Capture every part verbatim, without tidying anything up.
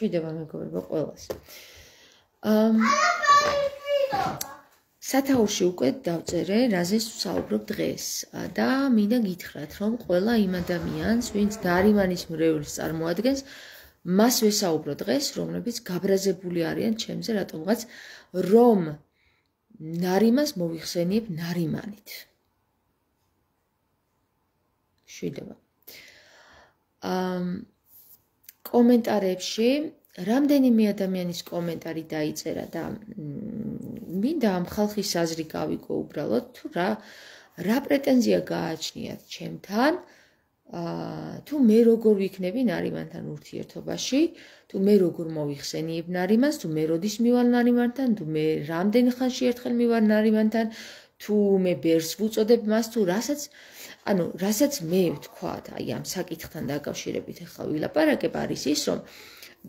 შვიდება მეგობრებო ყველას. სათაურში უკვე დავწერე, რაზეც ვსაუბრობ დღეს და მინდა გითხრათ, რომ ყველა იმ ადამიანს, ვინც ნარიმანის მრევლს წარმოადგენს, მას ვესაუბრო დღეს, რომლებიც გაბრაზებული არიან ჩემზე რატომღაც, რომ ნარიმანს მოვიხსენიებ ნარიმანით. შვიდება. კომენტარებში რამდენიმე ადამიანის კომენტარი დაიწერა და მინდა ამ ხალხის აზრი გავიგო უბრალოდ თუ რა რა პრეტენზია გააჩნიათ ჩემთან თუ მე როგორ ვიქნები ნარიმანთან ურთიერთობაში თუ მე როგორ მოვიხსენიებ ნარიმანს თუ მე როდის მივალ ნარიმანთან თუ მე რამდენ ხანში ერთხელ მივალ ნარიმანთან თუ მე ბერს ვუწოდებ მას თუ რასაც ანუ რასაც მე ვთქვათ აი ამ საკითხთან დაკავშირებით ახლა ვილაპარაკებ არის ის რომ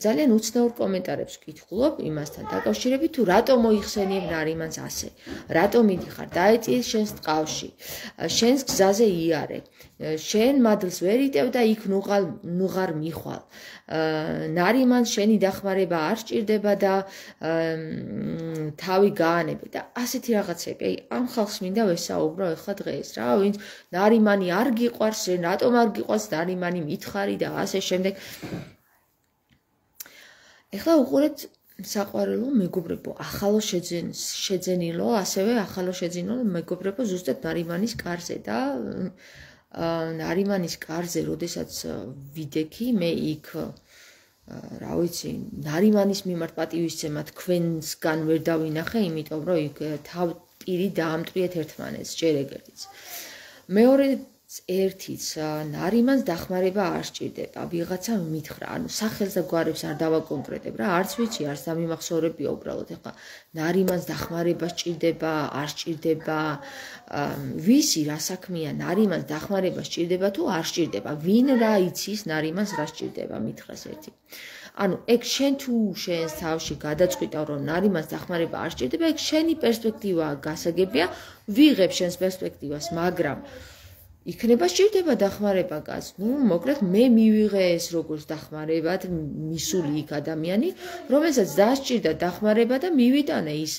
ძალიან უცნაურ კომენტარებს ვკითხულობ იმასთან დაკავშირებით თუ რატომ მოიხსენიებ ნარიმანს ასე რატომ მიდიხარ დაეწიე შენს ტყავში შენს გზაზე იარე შენ მადლს ვერ იტევ და იქ ნუღარ ნუღარ მიხვალ ნარიმანს შენი დახმარება არ სჭირდება და თავი გაანებე და ასეთი რაღაცები აი ამ ხალხს მინდა ვესაუბრო ახლა დღეს რა ვინც ნარიმანი არ გიყვარს რატომ არ გიყვარს ნარიმანი მითხარი და ასე შემდეგ ეხლა უყურეთ საყვარელო მეგობრებო, ახალო შეძენილო, ასევე ახალო შეძენილო მეგობრებო ზუსტად ნარიმანის კარზე და ნარიმანის კარზე, როდესაც ვიდექი, მე იქ რა ვიცი, ნარიმანის მიმართ პატივისცემა თქვენსგან ვერ დავინახე, იმიტომ რომ იქ თავ პირი დაამტვრიეთ ერთმანეთს, ჯერ ეგერთიც. მეორე ერთიც ნარიმანს დახმარება არ სჭირდება, ვიღაცა მითხრა, ანუ სახელს და გვარებს არ დავაკონკრეტებ რა, არც ვიცი, არც დამიმახსოვრებია უბრალოდ ეხლა ნარიმანს დახმარება სჭირდება, არ სჭირდება, ვისი რა საქმეა ნარიმანს დახმარება სჭირდება თუ არ სჭირდება, ვინ რა იცის ნარიმანს რა სჭირდება, მითხრას ერთი. ანუ ეგ შენ თუ შენს თავში გადაწყვიტავ რომ ნარიმანს დახმარება არ სჭირდება, ეგ შენი პერსპექტივა გასაგებია, ვიღებ შენს პერსპექტივას, მაგრამ იქნება სჭირდება დახმარება კაც. ნუ მოკლედ მე მივიღე ეს როგორც დახმარებად მისული იქ ადამიანი, რომელსაც დასჭირდა დახმარება და მივიტანე ის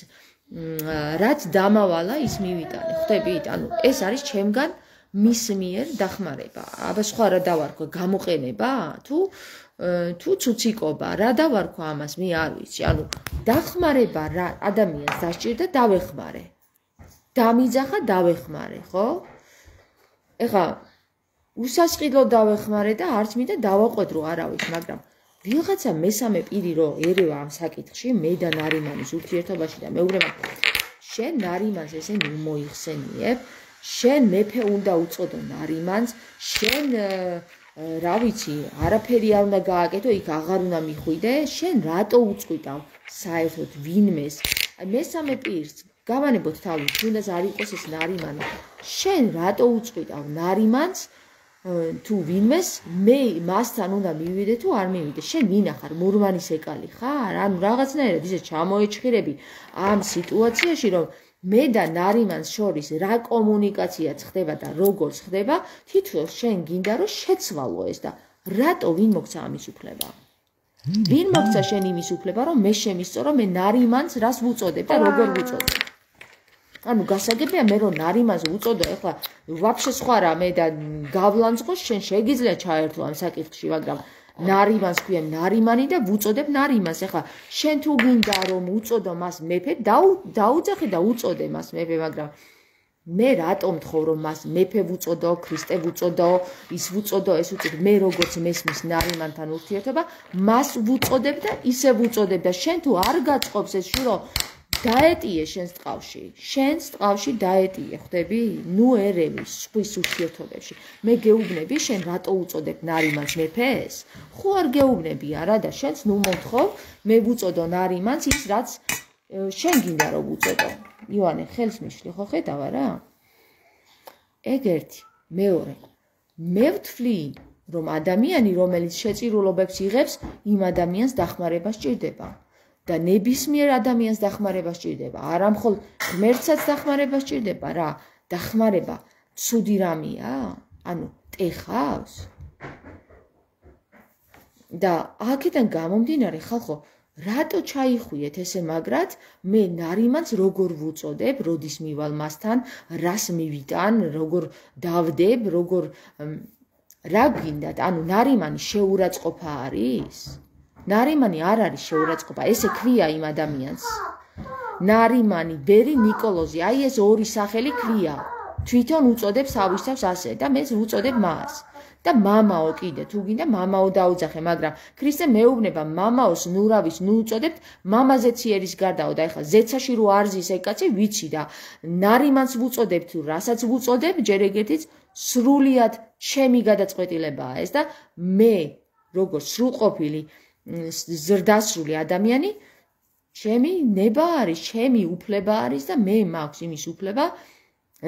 რაც დამავალა ის მივიტანე. ხვდებით? ანუ ეს არის ჩემგან მის მიერ დახმარება. აბა სხვა რა დავარქვა, გამოყენება თუ თუ ცუციკობა, რა დავარქვა ამას მე არ ვიცი. ანუ დახმარება რა ადამიანს დასჭირდა დავეხმარე. დამიძახა დავეხმარე, ხო? ეხა უსასყიდლო დავეხმარე და არც მინდა დავაყვედრო არავის, მაგრამ ვიღაცა მესამე პირი რო ერევა ამ საკითხში, მე და ნარიმანის ურთიერთობაში და მეუბნება, შენ ნარიმანს ესე მოიხსენიებ, შენ მეფე უნდა უწოდო ნარიმანს, შენ რა ვიცი, არაფერი არ უნდა გააკეთო, იქ აღარ უნდა მიხვიდე, შენ რატო უწყვიტავ საერთოდ ვინმეს? მესამე პირს გავანებოთ თავი, თუნდაც არ იყოს ეს ნარიმანი. შენ რატო უწყვიტავ ნარიმანს თუ ვინმეს მე მასთან უნდა მივიდე თუ არ მივიდე? შენ ვინახარ? მურმანის ეკალი ხარ? ანუ რაღაცნაირად ისე ჩამოეჭხირები ამ სიტუაციაში, რომ მე და ნარიმანს შორის რა კომუნიკაციაც ხდება და როგორც ხდება, თითქოს შენ გინდა რომ შეცვალო ეს და რატო ვინ მოგცა ამის უფლება? ვინ მოგცა შენ იმის უფლება, რომ მე შემისწორო მე ნარიმანს რას ვუწოდებ და როგორ ვუწოდებ? ანუ გასაგებია მე რომ ნარიმანს უწოდო ეხლა ვაფშე სხვა რამე და გავლანძღო შენ შეგიძლია ჩაერთო ამ საკითხში მაგრამ ნარიმანს ქვია ნარიმანი და ვუწოდებ ნარიმანს ეხლა შენ თუ გინდა რომ უწოდო მას მეფე დაუძახე და უწოდე მას მეფე მაგრამ მე რატომ თხოვ რომ მას მეფე ვუწოდო ქრისტე ვუწოდო ის ვუწოდო ეს უწოდო მე როგორც მესმის ნარიმანთან ურთიერთობა მას ვუწოდებ და ისე ვუწოდებ და შენ თუ არ გაწყობს ეს შურო დაეტიე შენს ტყავში, შენს ტყავში დაეტიე, ხვდები? ნუ ერევი სხვის ურთიერთობებში. მე გეუბნები, შენ რატო უწოდებ ნარიმანს მეფეს? ხო არ გეუბნები არა და შენს ნუ მომთხოვ, მე ვუწოდო ნარიმანს ის რაც შენ გინდა რომ უწოდო. ივანე, ხელს მიშლი, ხო ხედავ არა? ეგ ერთი, მეორე. მე ვთვლი, რომ ადამიანი, რომელიც შეწირულობებს იღებს, იმ ადამიანს დახმარება სჭირდება. და ნებისმიერ ადამიანს დახმარება სჭირდება. არა მხოლოდ ღმერთსაც დახმარება სჭირდება რა. დახმარება ცუდი რამეა? ანუ ტეხავს? და აქედან გამომდინარე ხალხო რატო ჩაიხვიეთ ესე მაგრად მე ნარიმანს როგორ ვუწოდებ როდის მივალ მასთან რას მივიტან როგორ დავდებ როგორ რა გინდათ ანუ ნარიმანი შეურაცხყოფა არის ნარიმანი არ არის შეურაცხყოფა ესე ქვია იმ ადამიანს ნარიმანი ბერი ნიკოლოზი აი ეს ორი სახელი ქვია თვითონ უწოდებს ავისთავს ასე და მე ვუწოდებ მას და მამაო კიდე თუ გინდა მამაო დაუძახე მაგრამ ქრისტე მეუბნება მამაოს ნურავის ნუ უწოდებთ მამაზეც იერის გარდაო და ეხლა ზეცაში რო არზის ეგ კაცი ვიცი და ნარიმანს ვუწოდებ თუ რასაც ვუწოდებ ჯერ ეგეთიც სრულიად ჩემი გადაწყვეტილებაა ეს და მე როგორ სრულყოფილი ზრდასრული ადამიანი ჩემი ნება არის ჩემი უფლება არის და მე მაქვს იმის უფლება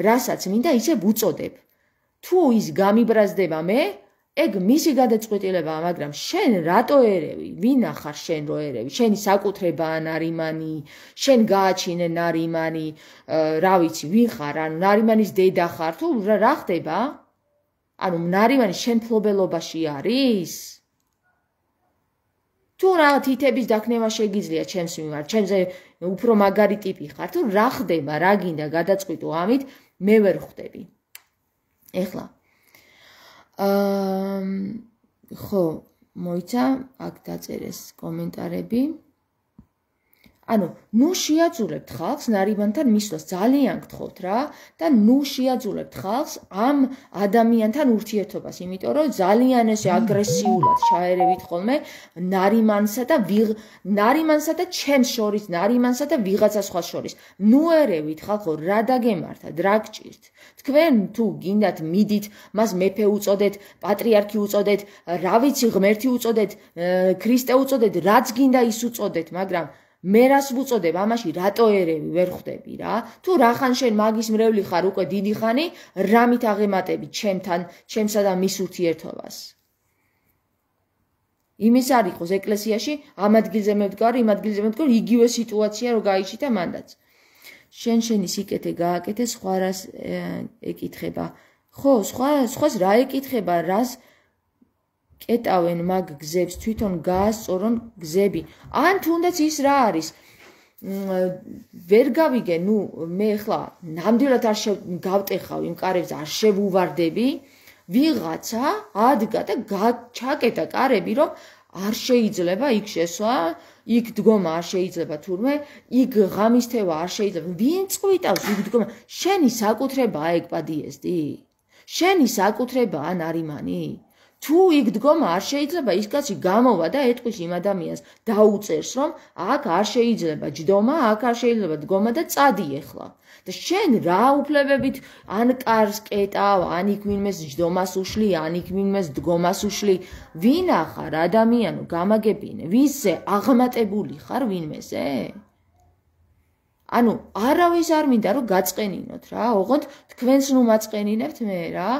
რასაც მინდა ისე ვუწოდებ თუ ის გამიბრაზდება მე ეგ მისი გადაწყვეტილებაა მაგრამ შენ რატო ერევი ვინ ახარ შენ რო ერევი შენი საკუთრებაა ნარიმანი შენ გააჩინე ნარიმანი რა ვიცი ვინ ხარ ანუ ნარიმანის დედა ხარ თუ რა ხდება ანუ ნარიმანი შენ ფლობელობაში არის თუ რა თითების დაქნევა შეგიძლია ჩემს მიმართ ჩემზე უფრო მაგარი ტიპი ხარ თუ რა ხდება რა გინდა გადაწყვიტო ამით მე ვერ ხვდები ეხლა აა ხო მოიცა აქ დაწერეს კომენტარები ანუ ნუ შეაძულებთ ხალხს ნარიმანთან მისვლას ძალიან გთხოვთ რა და ნუ შეაძულებთ ხალხს ამ ადამიანთან ურთიერთობას იმიტომ რომ ძალიან ესე აგრესიულად ჩაერევით ხოლმე ნარიმანსა და ნარიმანსა და ჩემს შორის ნარიმანსა და ვიღაცა სხვა შორის ნუ ერევით ხალხო რა დაგემართათ რა გჭირთ თქვენ თუ გინდათ მიდით მას მეფე უწოდეთ პატრიარქი უწოდეთ რა ვიცი ღმერთი უწოდეთ ქრისტე უწოდეთ რაც გინდა ის უწოდეთ მაგრამ მე რას ვუწოდებ ამაში რატო ერევი ვერ ხვდები რა თუ რახან შენ მაგის მრევლი ხარ უკვე დიდი ხანი რამით აღემატები ჩემთან ჩემსა და მის ურთიერთობას იმის არ იყოს ეკლესიაში ამ ადგილზე მევდგარი იმ ადგილზე მევდგარი იგივე სიტუაცია რო გაიჩიტა მანდაც შენ შენი სიკეთე გააკეთე სხვა რას ეკითხება ხო სხვა სხვას რა ეკითხება რას კეტავენ მაგ გზებს თვითონ გაასწორონ გზები ან თუნდაც ის რა არის ვერ გავიგე ნუ მე ხლა ნამდვილად არ გავტეხავ იმ კარებს არ შევუვარდები ვიღაცა ადგა და ჩაკეტა კარები რომ არ შეიძლება იქ შესვა იქ დგომა არ შეიძლება თურმე იქ ღამისთევა არ შეიძლება ვინ წვიტავს იქ დგომა შენი საკუთრებაა ეგ პადიესტი შენი საკუთრებაა ნარიმანი თუ იქ დგომა არ შეიძლება ის კაცი გამოვა და ეტყვის იმ ადამიანს დაუწერს რომ აქ არ შეიძლება ჯდომა აქ არ შეიძლება დგომა და წადი ეხლა და შენ რა უფლებებით ან კარს კეტავ ან იქ ვინმეს ჯდომას უშლი ან იქ ვინმეს დგომას უშლი ვინ ახარ ადამიანო გამაგებინე ვისზე აღმატებული ხარ ვინმეზე ანუ არავის არ მინდა რომ გაწყენინოთ რა ოღონდ თქვენს ნუ მაწყენინებთ მე რა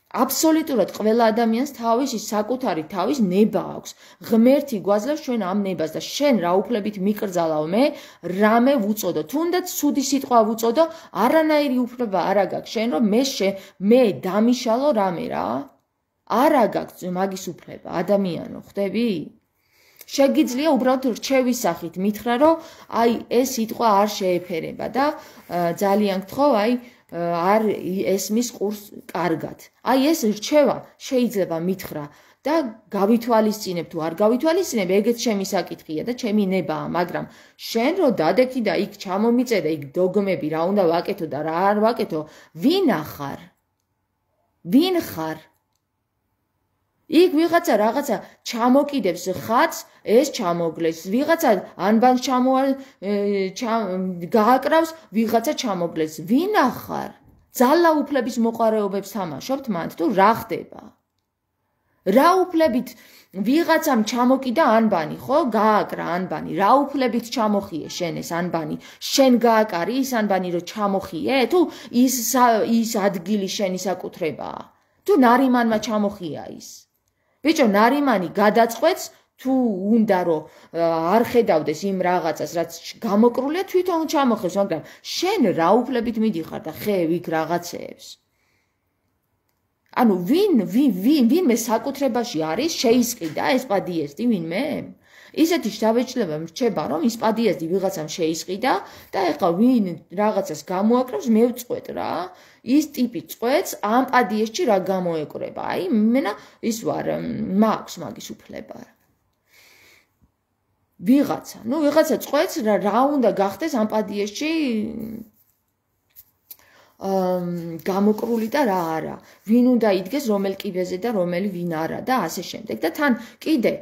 აბსოლუტურად ყველა ადამიანს თავისი საკუთარი თავის ნება აქვს. ღმერთი გვაძლევს ჩვენ ამ ნებას და შენ რა უფლებით მიკრძალავ მე, რამე ვუწოდო. თუნდაც ცუდი სიტყვა ვუწოდო, არანაირი უფლება არ აქვს შენ რომ მე მე დამიშალო რამე რა. არ აქვს მაგის უფლება, ადამიანო, ხვდები? შეგიძლია უბრალოდ რჩევის სახით მითხრა რომ აი ეს სიტყვა არ შეეფერება და ძალიან გთხოვ აი არ ესმის ყურს კარგად. აი ეს რჩევა შეიძლება მითხრა და გავითვალისწინებ თუ არ გავითვალისწინებ, ეგეც ჩემი საკითხია და ჩემი ნებაა, მაგრამ შენ რო დადექი და იქ ჩამომიწერე იქ დოგმები რა უნდა ვაკეთო და რა არ ვაკეთო, ვინ ახარ? ვინ ხარ? იქ ვიღაცა რაღაცა ჩამოკიდებს ხატს, ეს ჩამოგლეს, ვიღაცა ანბანს ჩამოა გააკრავს, ვიღაცა ჩამოგლეს. ვინ ახარ? ძალა უფლების მოყარეობებს თამაშობთ მანდ თუ რა ხდება? რა უფლებით ვიღაცამ ჩამოკიდა ანბანი, ხო? გააკრა ანბანი. რა უფლებით ჩამოხიე შენ ეს ანბანი? შენ გააკარი ის ანბანი რომ ჩამოხიე? თუ ის ის ადგილი შენი საკუთრებაა? თუ ნარიმანმა ჩამოხია ის? ბიჭო, ნარიმანი გადაწყვეტს თუ უნდა რომ არ ხედავდეს იმ რაღაცას, რაც გამოკრულია, თვითონ ჩამოხევს, მაგრამ შენ რა უფლებით მიდიხარ და ხე ვიქ რაღაცეებს? ანუ ვინ ვინ ვინ ვინმე საკუთრებაში არის შეისყიდა ეს პადიეზდი ვინმე? ისეთი შთაბეჭდილება რჩება, რომ ის პადიეზდი ვიღაცამ შეისყიდა და ეხლა ვინ რაღაცას გამოაკრავს, მე ვწყვეტ რა. ის ტიპი წყვეტს ამ პადიეზში რა გამოეკრება. აი, მენა ის ვარ, მაქვს მაგის უფლება. ვიღაცა, ნუ ვიღაცა წყვეტს რა რა უნდა გახდეს ამ პადიეზში გამოკრული და რა არა. ვინ უნდა იდგეს რომელ კიბეზე და რომელი ვინ არა და ასე შემდეგ. და თან კიდე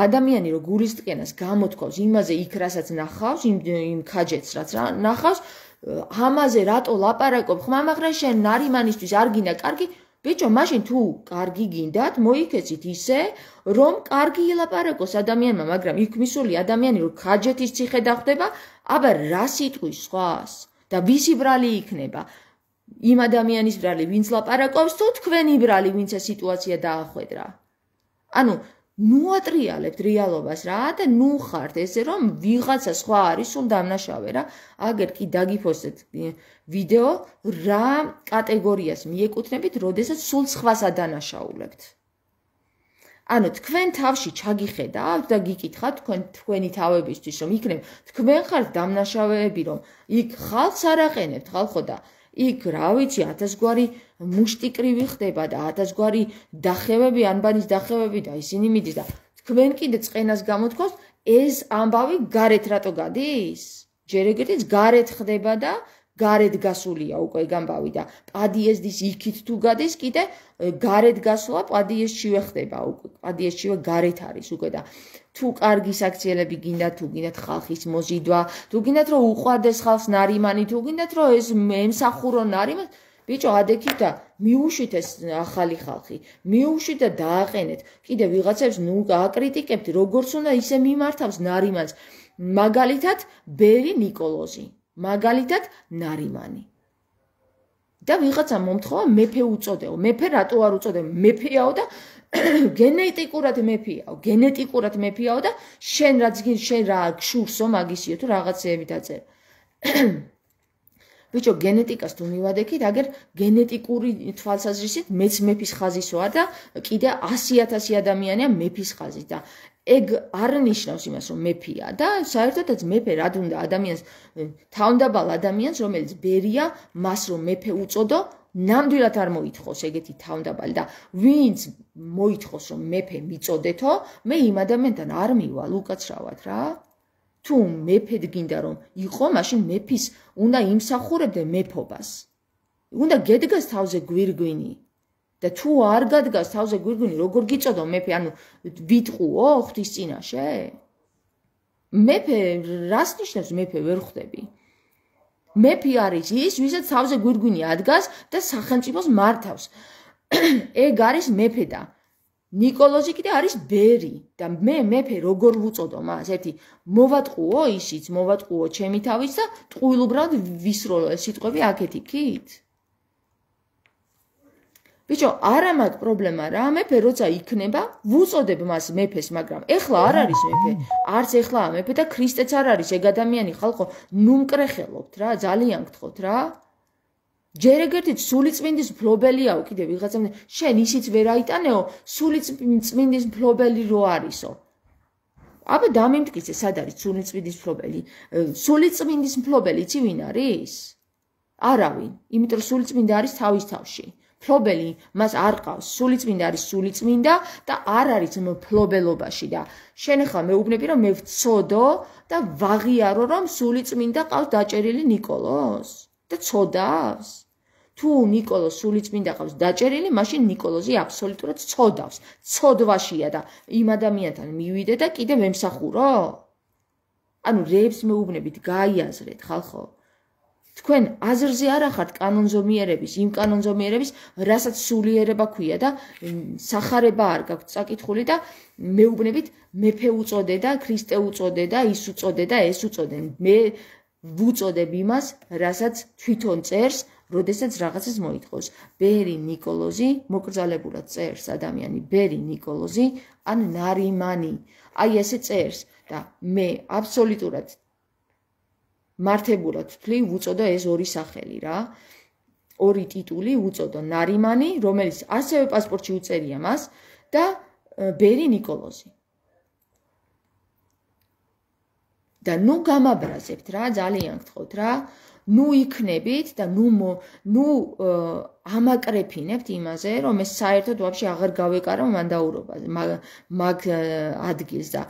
ადამიანი რო გულისწყენას გამოთქვავს იმაზე იქ რასაც ნახავს, იმ იმ ქაჯეთს რაც ნახავს, ამაზე რატო ლაპარაკობ? ხმამაღლა შენ ნარიმანისთვის არ გინდა კარგი? ბიჭო, მაშინ თუ კარგი გინდათ, მოიქეცით ისე, რომ კარგი ილაპარაკოს ადამიანმა, მაგრამ იქ მისული ადამიანი რო ქაჯეთის ციხე დახვდება, აბა რა სიტყვის სხვას? და ვისი ბრალი იქნება? იმ ადამიანის ბრალი, ვინც ლაპარაკობს, თუ თქვენი ბრალი, ვინც ეს სიტუაცია დაახვედრა. ანუ ნუ ატრიალებთ რეალობას რა და ნუ ხართ ესე რომ ვიღაცა სხვა არის სულ დამნაშავე რა. აგერ კი დაგიფოსტეთ ვიდეო რა კატეგორიას მიეკუთვნებით, როდესაც სულ სხვას ადანაშაულებთ. ანუ თქვენ თავში ჩაგიხედავთ და გიკითხავთ თქვენ თქვენი თავებისთვის რომ იქნებ თქვენ ხართ დამნაშავეები რომ იქ ხალხს არ აყენებთ ხალხო და იქ რა ვიცი ათასგვარი მუშტიკრივი ხდება და ათასგვარი დახევები ანბანის დახევები და ისინი მიდის და თქვენ კიდე წყენას გამოთქვას ეს ამბავი გარეთ რატო გადის? ჯერ ეგრეთიც გარეთ ხდება და გარეთ გასულია უკვე გამბავი და პადიეზდის იქით თუ გადის კიდე გარეთ გასვლა პადიეზშივე ხდება უკვე პადიეზშივე გარეთ არის უკვე და თუ კარგი საქციელები გინდათ თუ გინდათ ხალხის მოზიდვა თუ გინდათ რომ უყვარდეს ხალხს ნარიმანი თუ გინდათ რომ ეს ემსახურო ნარიმანს ბიჭო ადექით და მიუშვით ეს ახალი ხალხი მიუშვით და დააყენეთ კიდე ვიღაცებს ნუ აკრიტიკებთ როგორც უნდა ისე მიმართავს ნარიმანს მაგალითად ბერი ნიკოლოზი მაგალითად ნარიმანი და ვიღაცა მომთხოვა მეფე უწოდეო მეფე რატო არ უწოდე მეფეაო და გენეტიკურად მეფეაო გენეტიკურად მეფეაო და შენ რაც შენ რა გშურსო მაგისიო თუ რაღაცეები დაწერ ბიჭო გენეტიკას თუ მივადექით აგერ გენეტიკური თვალსაზრისით მეც მეფის ხაზის ვარ და კიდე ასი ათასი ადამიანია მეფის ხაზის და ეგ არ ნიშნავს იმას რომ მეფეა და საერთოდაც მეფე რად უნდა ადამიანს თავდაბალ ადამიანს რომელიც ბერია მას რომ მეფე უწოდო ნამდვილად არ მოითხოვს ეგეთი თავდაბალი და ვინც მოითხოვს რომ მეფე მიწოდეთო მე იმ ადამიანთან არ მივალ უკაცრავად რა თუ მეფედ გინდა რომ იყო მაშინ მეფის უნდა იმსახურებდე მეფობას უნდა გედგას თავზე გვირგვინი და თუ არ გადგას თავზე გვირგვინი როგორ გიწოდო მეფე ანუ ვიტყუო ღვთის წინაშე მეფე რას ნიშნავს მეფე ვერ ხვდები მეფე არის ის ვისაც თავზე გვირგვინი ადგას და სახელმწიფოს მართავს ეგ არის მეფე და ნიკოლოზი კიდე არის ბერი და მე მეფე როგორ ვუწოდო მას ერთი მოვატყუო ისიც მოვატყუო ჩემი თავის და ტყუილუბრად ვისროლო ეს სიტყვები აქეთ იქით ბიჭო არა მაქვს პრობლემა რა მეფე როცა იქნება ვუწოდებ მას მეფეს მაგრამ ეხლა არ არის მეფე არც ეხლაა მეფე და ქრისტეც არ არის ეგ ადამიანი ხალხო ნუ მკრეხელობთ რა ძალიან გთხოვთ რა ჯერ ეგერთით სულიწმინდის მფლობელიაო კიდე ვიღაცამ შენ ისიც ვერ აიტანეო სულიწმინდის მფლობელი რო არისო აბა დამიმტკიცე სად არის სულიწმინდის მფლობელი სულიწმინდის მფლობელი იცი ვინ არის არავინ იმიტომ რომ სულიწმინდა არის თავის თავში მფლობელი მას არ ყავს სულიწმინდა არის სულიწმინდა და არ არის მფლობელობაში და შენ ახლა მეუბნები რომ მე ვწოდო და ვაღიარო რომ სულიწმინდა ყავს დაჭერილი ნიკოლოს და წოდავს თუ ნიკოლოს სულიწმინდა ყავს დაჭერილი მაშინ ნიკოლოზი აბსოლუტურად წოდავს წოდვაშია და იმ ადამიანთან მივიდე და კიდე ვემსახურო ანუ რეებს მეუბნებით გაიაზრეთ ხალხო თქვენ აზრზე არ ახართ კანონზომიერების იმ კანონზომიერების რასაც სულიერება ქვია და სახარება არ გაქვთ წაკითხული და მეუბნებით მეფე უწოდე და ქრისტე უწოდე და ის უწოდე და ეს უწოდე მე ვუწოდებ იმას რასაც თვითონ წერს როდესაც რაღაცას მოითხოვს ბერი ნიკოლოზი მოკრძალებულად წერს ადამიანი ბერი ნიკოლოზი ან ნარიმანი აი ესე წერს და მე აბსოლუტურად მართებულად ვთვლი ვუწოდო ეს ორი სახელი რა ორი ტიტული უწოდო ნარიმანი, რომელიც ასევე პასპორტში უწერია მას და ბერი ნიკოლოზი. და ნუ გამაბრაზებთ რა, ძალიან გთხოვთ რა. ნუ იქნებით და ნუ ნუ ამაკრეფინებთ იმაზე, რომ ეს საერთოდ ვაფშე აღარ გავეკარო მანდაურობა მაგ ადგილს და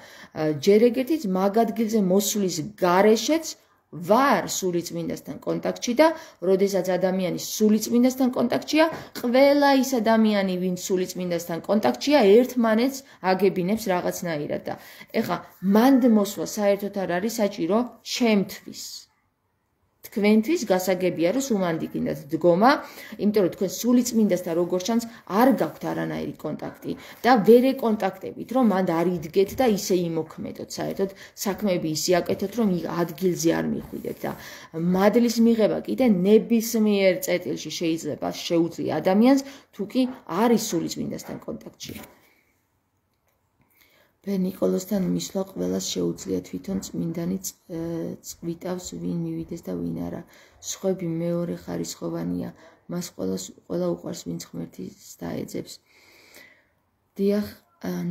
ჯერ ეგერთიც მაგ ადგილზე მოსulis გარეშეც ვარ სულიწმინდასთან კონტაქტში და როდესაც ადამიანი სულიწმინდასთან კონტაქტშია, ყველა ის ადამიანი, ვინც სულიწმინდასთან კონტაქტშია, ერთმანეთს აგებინებს რაღაცნაირად და ეხლა მანდ მოსვლა საერთოდ არ არის საჭირო ჩემთვის. თქვენთვის გასაგებია რომ სუმანდი გინდათ დგომა, იმიტომ რომ თქვენ სულიწმინდასთან როგორც ჩანს არ გაქვთ არანაირი კონტაქტი და ვერ ეკონტაქტებით, რომ მანდ არ იდგეთ და ისე იმოქმედოთ, საერთოდ საქმეები ისე აკეთოთ, რომ ადგილზე არ მიხვიდეთ და მადლის მიღება კიდე ნებისმიერ წერტილში შეიძლება შეუძლია ადამიანს, თუ კი არის სულიწმინდასთან კონტაქტში. ბერ ნიკოლოზთან მისვლა ყველას შეუძლია თვითონ წმინდანი წვიტავს ვინ მივიდეს და ვინ არა. სხვები მეორე ხარისხოვანია, მას ყველას ყველა უყვარს ვინც ღმერთის დაეძებს. დიახ,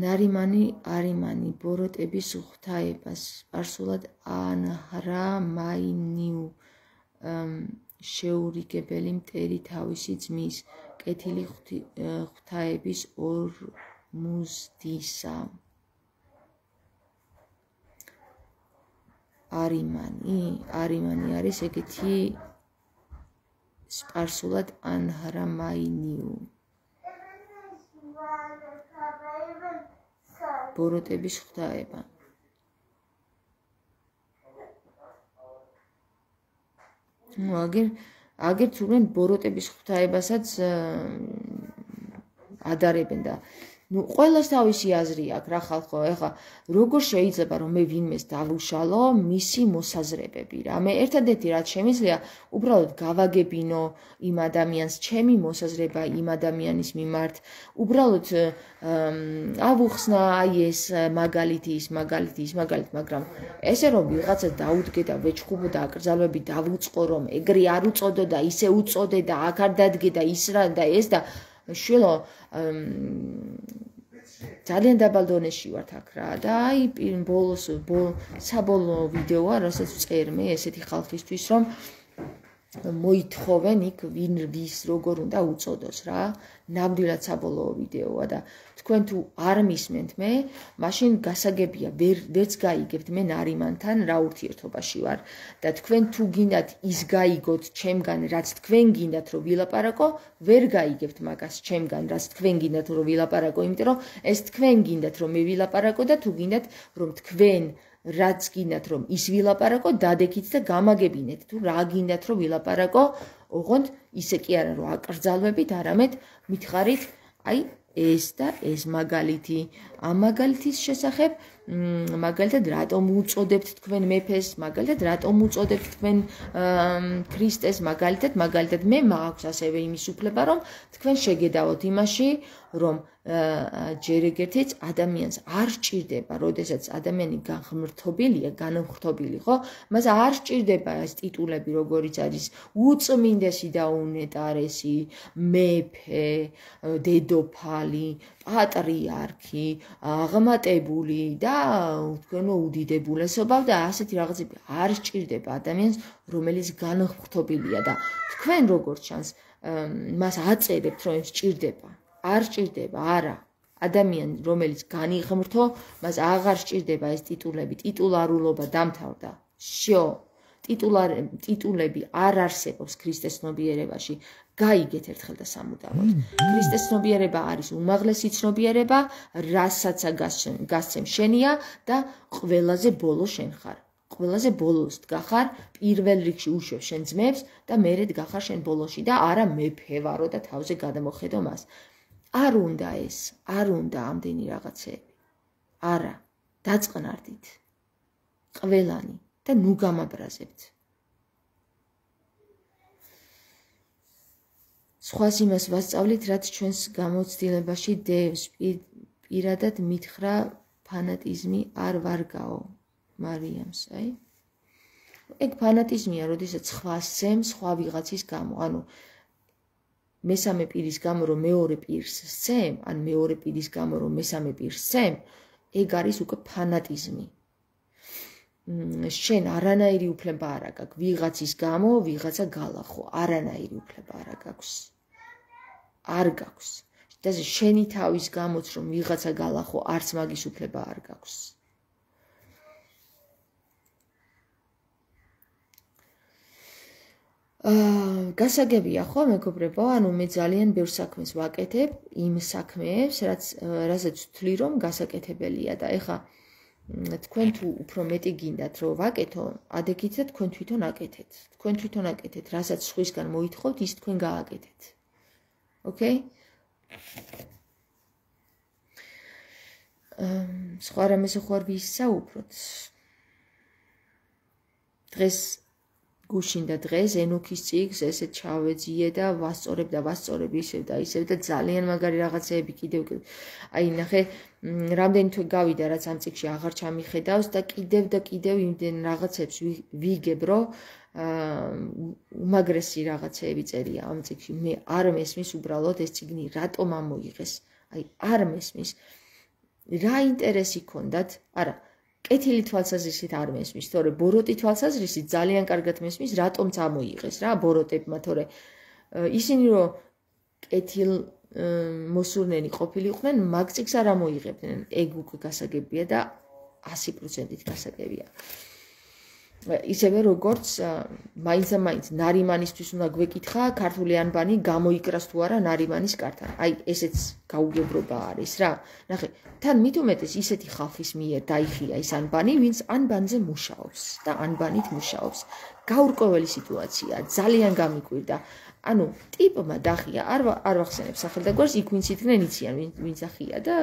ნარიმანი არიმანი ბოროტების ღვთაებას სპარსულად ანჰრა მაინიუ შეურიგებელი მტერი თავისი ძმის კეთილი ღვთაების ორმუზდისა. არიმანი, არიმანი არის ეგეთი სპარსულად ანჰრა მაინიუ. ბოროტების ღვთაება. ნუ აგერ აგერ თურმე ბოროტების ღვთაებასაც ადარებენ და ნუ ყველას თავისი აზრი აქვს რა ხალხო, ეხლა როგორ შეიძლება რომ მე ვინმეს დავუშალო მისი მოსაზრებები რა. მე ერთადერთი რაც შემიძლია უბრალოდ გავაგებინო იმ ადამიანს ჩემი მოსაზრება იმ ადამიანის მიმართ. უბრალოდ ავუხსნა აი ეს მაგალითი ის მაგალითი ის მაგალითი, მაგრამ ესე რომ ვიღაცა დაუდგე და ვეჩხუბო და აკრძალვები დავუწყო რომ ეგრე არ უწოდო და ისე უწოდე და აქ არ დადგე და ის რა და ეს და შვილო ძალიან დაბალ დონეში ვართ აქ რა და აი ბოლოს საბოლოო ვიდეოა, რასაც ვწერ მე ესეთი ხალხისთვის, რომ მოითხოვენ იქ ვინ ვის როგორ უნდა უწოდოს რა. ნამდვილად საბოლოო ვიდეოა და თქვენ თუ არ მისმენთ მე, მაშინ გასაგებია ვერც გაიგებთ მე ნარიმანთან რა ურთიერთობაში ვარ და თქვენ თუ გინდათ ის გაიგოთ ჩემგან, რაც თქვენ გინდათ რომ ვილაპარაკო, ვერ გაიგებთ მაგას ჩემგან, რაც თქვენ გინდათ რომ ვილაპარაკო, იმიტომ რომ ეს თქვენ გინდათ რომ მე ვილაპარაკო და თუ გინდათ რომ თქვენ რაც გინდათ რომ ის ვილაპარაკო, დადექით და გამაგებინეთ თუ რა გინდათ რომ ვილაპარაკო, ოღონდ ისე კი არა რომ აკრძალვებით, არამედ მითხარით აი ეს და ეს მაგალითი. ამ მაგალითის შესახებ მაგალითად რატომ უწოდებთ თქვენ მეფეს, მაგალითად რატომ უწოდებთ თქვენ ქრისტეს, მაგალითად მაგალითად მე მაქვს ასევე იმის უფლება რომ თქვენ შეგედავოთ იმაში, რომ ჯერ ეგერთიც ადამიანს არ სჭირდება, როდესაც ადამიანი განღმრთობილია, განმხრთობილი, ხო? მას არ სჭირდება ეს ტიტულები, როგორიც არის უწმინდესი და უნეტარესი, მეფე, დედოფალი, პატრიარქი, აღმატებული და თქვენო უდიდებულესობა და ასეთი რაღაცები არ სჭირდება ადამიანს, რომელიც განმხრთობილია და თქვენ როგორც ჩანს, მას აწერებთ, რომ სჭირდება. არ სჭირდება, არა. ადამიანი, რომელიც განიღმრთო, მას აღარ სჭირდება ეს ტიტულები, ტიტულარულობა დამთავრდა. შო, ტიტულები არ არსებობს ქრისტეს ცნობიერებაში. გაიგეთ ერთხელ და სამუდამოდ. ქრისტეს ცნობიერება არის უმაღლესი ცნობიერება, რასაც გასცემ შენია და ყველაზე ბოლო შენ ხარ. ყველაზე ბოლოს დგახარ, პირველ რიგში უშვებ შენ ძმებს და მერე დგახარ შენ ბოლოში და არა მეფე ვარო და თავზე გადამოხედო მას. არ უნდა ეს, არ უნდა ამდენი რაღაცები. არა, დაწყნარდით. ყველანი და ნუ გამაბრაზებთ. სხვას იმას ვასწავლით, რაც ჩვენს გამოცდილებაში დევს, პირადად მითხრა ფანატიზმი არ ვარგაო მარიამს, აი. ეგ ფანატიზმია, როდესაც სხვას სცემ სხვა ვიღაცის გამო, ანუ მესამე პირის გამო რომ მეორე პირს სცემ, ან მეორე პირის გამო რომ მესამე პირს სცემ, ეგ არის უკვე ფანატიზმი. შენ არანაირი უფლება არ აქვს, ვიღაცის გამო ვიღაცა გალახო, არანაირი უფლება არ აქვს. არ გაქვს. და შენი თავის გამოც რომ ვიღაცა გალახო, არც მაგის უფლება არ გაქვს. გასაგებია ხო მეგობრებო, ანუ მე ძალიან ბევრ საქმეს ვაკეთებ, იმ საქმეებს, რაც რასაც ვთვლი რომ გასაკეთებელია და ეხა თქვენ თუ უფრო მეტი გინდათ რომ ვაკეთო, ადექით და თქვენ თვითონ აკეთეთ. თქვენ თვითონ აკეთეთ, რასაც სხვისგან მოითხოვთ, ის თქვენ გააკეთეთ. ოკეი? სხვა რამეზე ხო არ ვისაუბროთ. დღეს გუშინდა დღეს ენოქის წიგნს ესე ჩავეძიე და ვასწორებ და ვასწორებ ისევ და ისევ და ძალიან მაგარი რაღაცეები კიდევ აი ნახე რამდენი თვე გავიდა რაც ამ წიგნში აღარ ჩამიხედავს და კიდევ და კიდევ იმდენ რაღაცებს ვიგებ რომ უმაგრესი რაღაცეები წერია ამ წიგნში მე არ მესმის უბრალოდ ეს წიგნი რატომ ამოიღეს აი არ მესმის რა ინტერესი ქონდათ არა კეთილი თვალსაზრისით არ მესმის, თორე ბოროტი თვალსაზრისით ძალიან კარგად მესმის, რატომც ამოიღეს რა ბოროტებმა, თორე ისინი რომ კეთილ მოსურნენი ყოფილიყვნენ, მაგ წიგნს არ ამოიღებდნენ. ეგ უკვე გასაგებია და ასი პროცენტით გასაგებია. ისევე როგორც მაინც და მაინც ნარიმანისთვის უნდა გვეკითხა ქართული ანბანი გამოიკრას თუ არა ნარიმანის კართან. აი ესეც გაუგებრობა არის რა. ნახე, თან მით უმეტეს ისეთი ხალხის მიერ დაიხია ეს ანბანი, ვინც ანბანზე მუშაობს და ანბანით მუშაობს. გაურკვეველი სიტუაცია, ძალიან გამიკვირდა. ანუ ტიპმა დახია, არ არ ვახსენებ სახელ და გვარს, იქ ვინც იდგნენ იციან, ვინც ახია და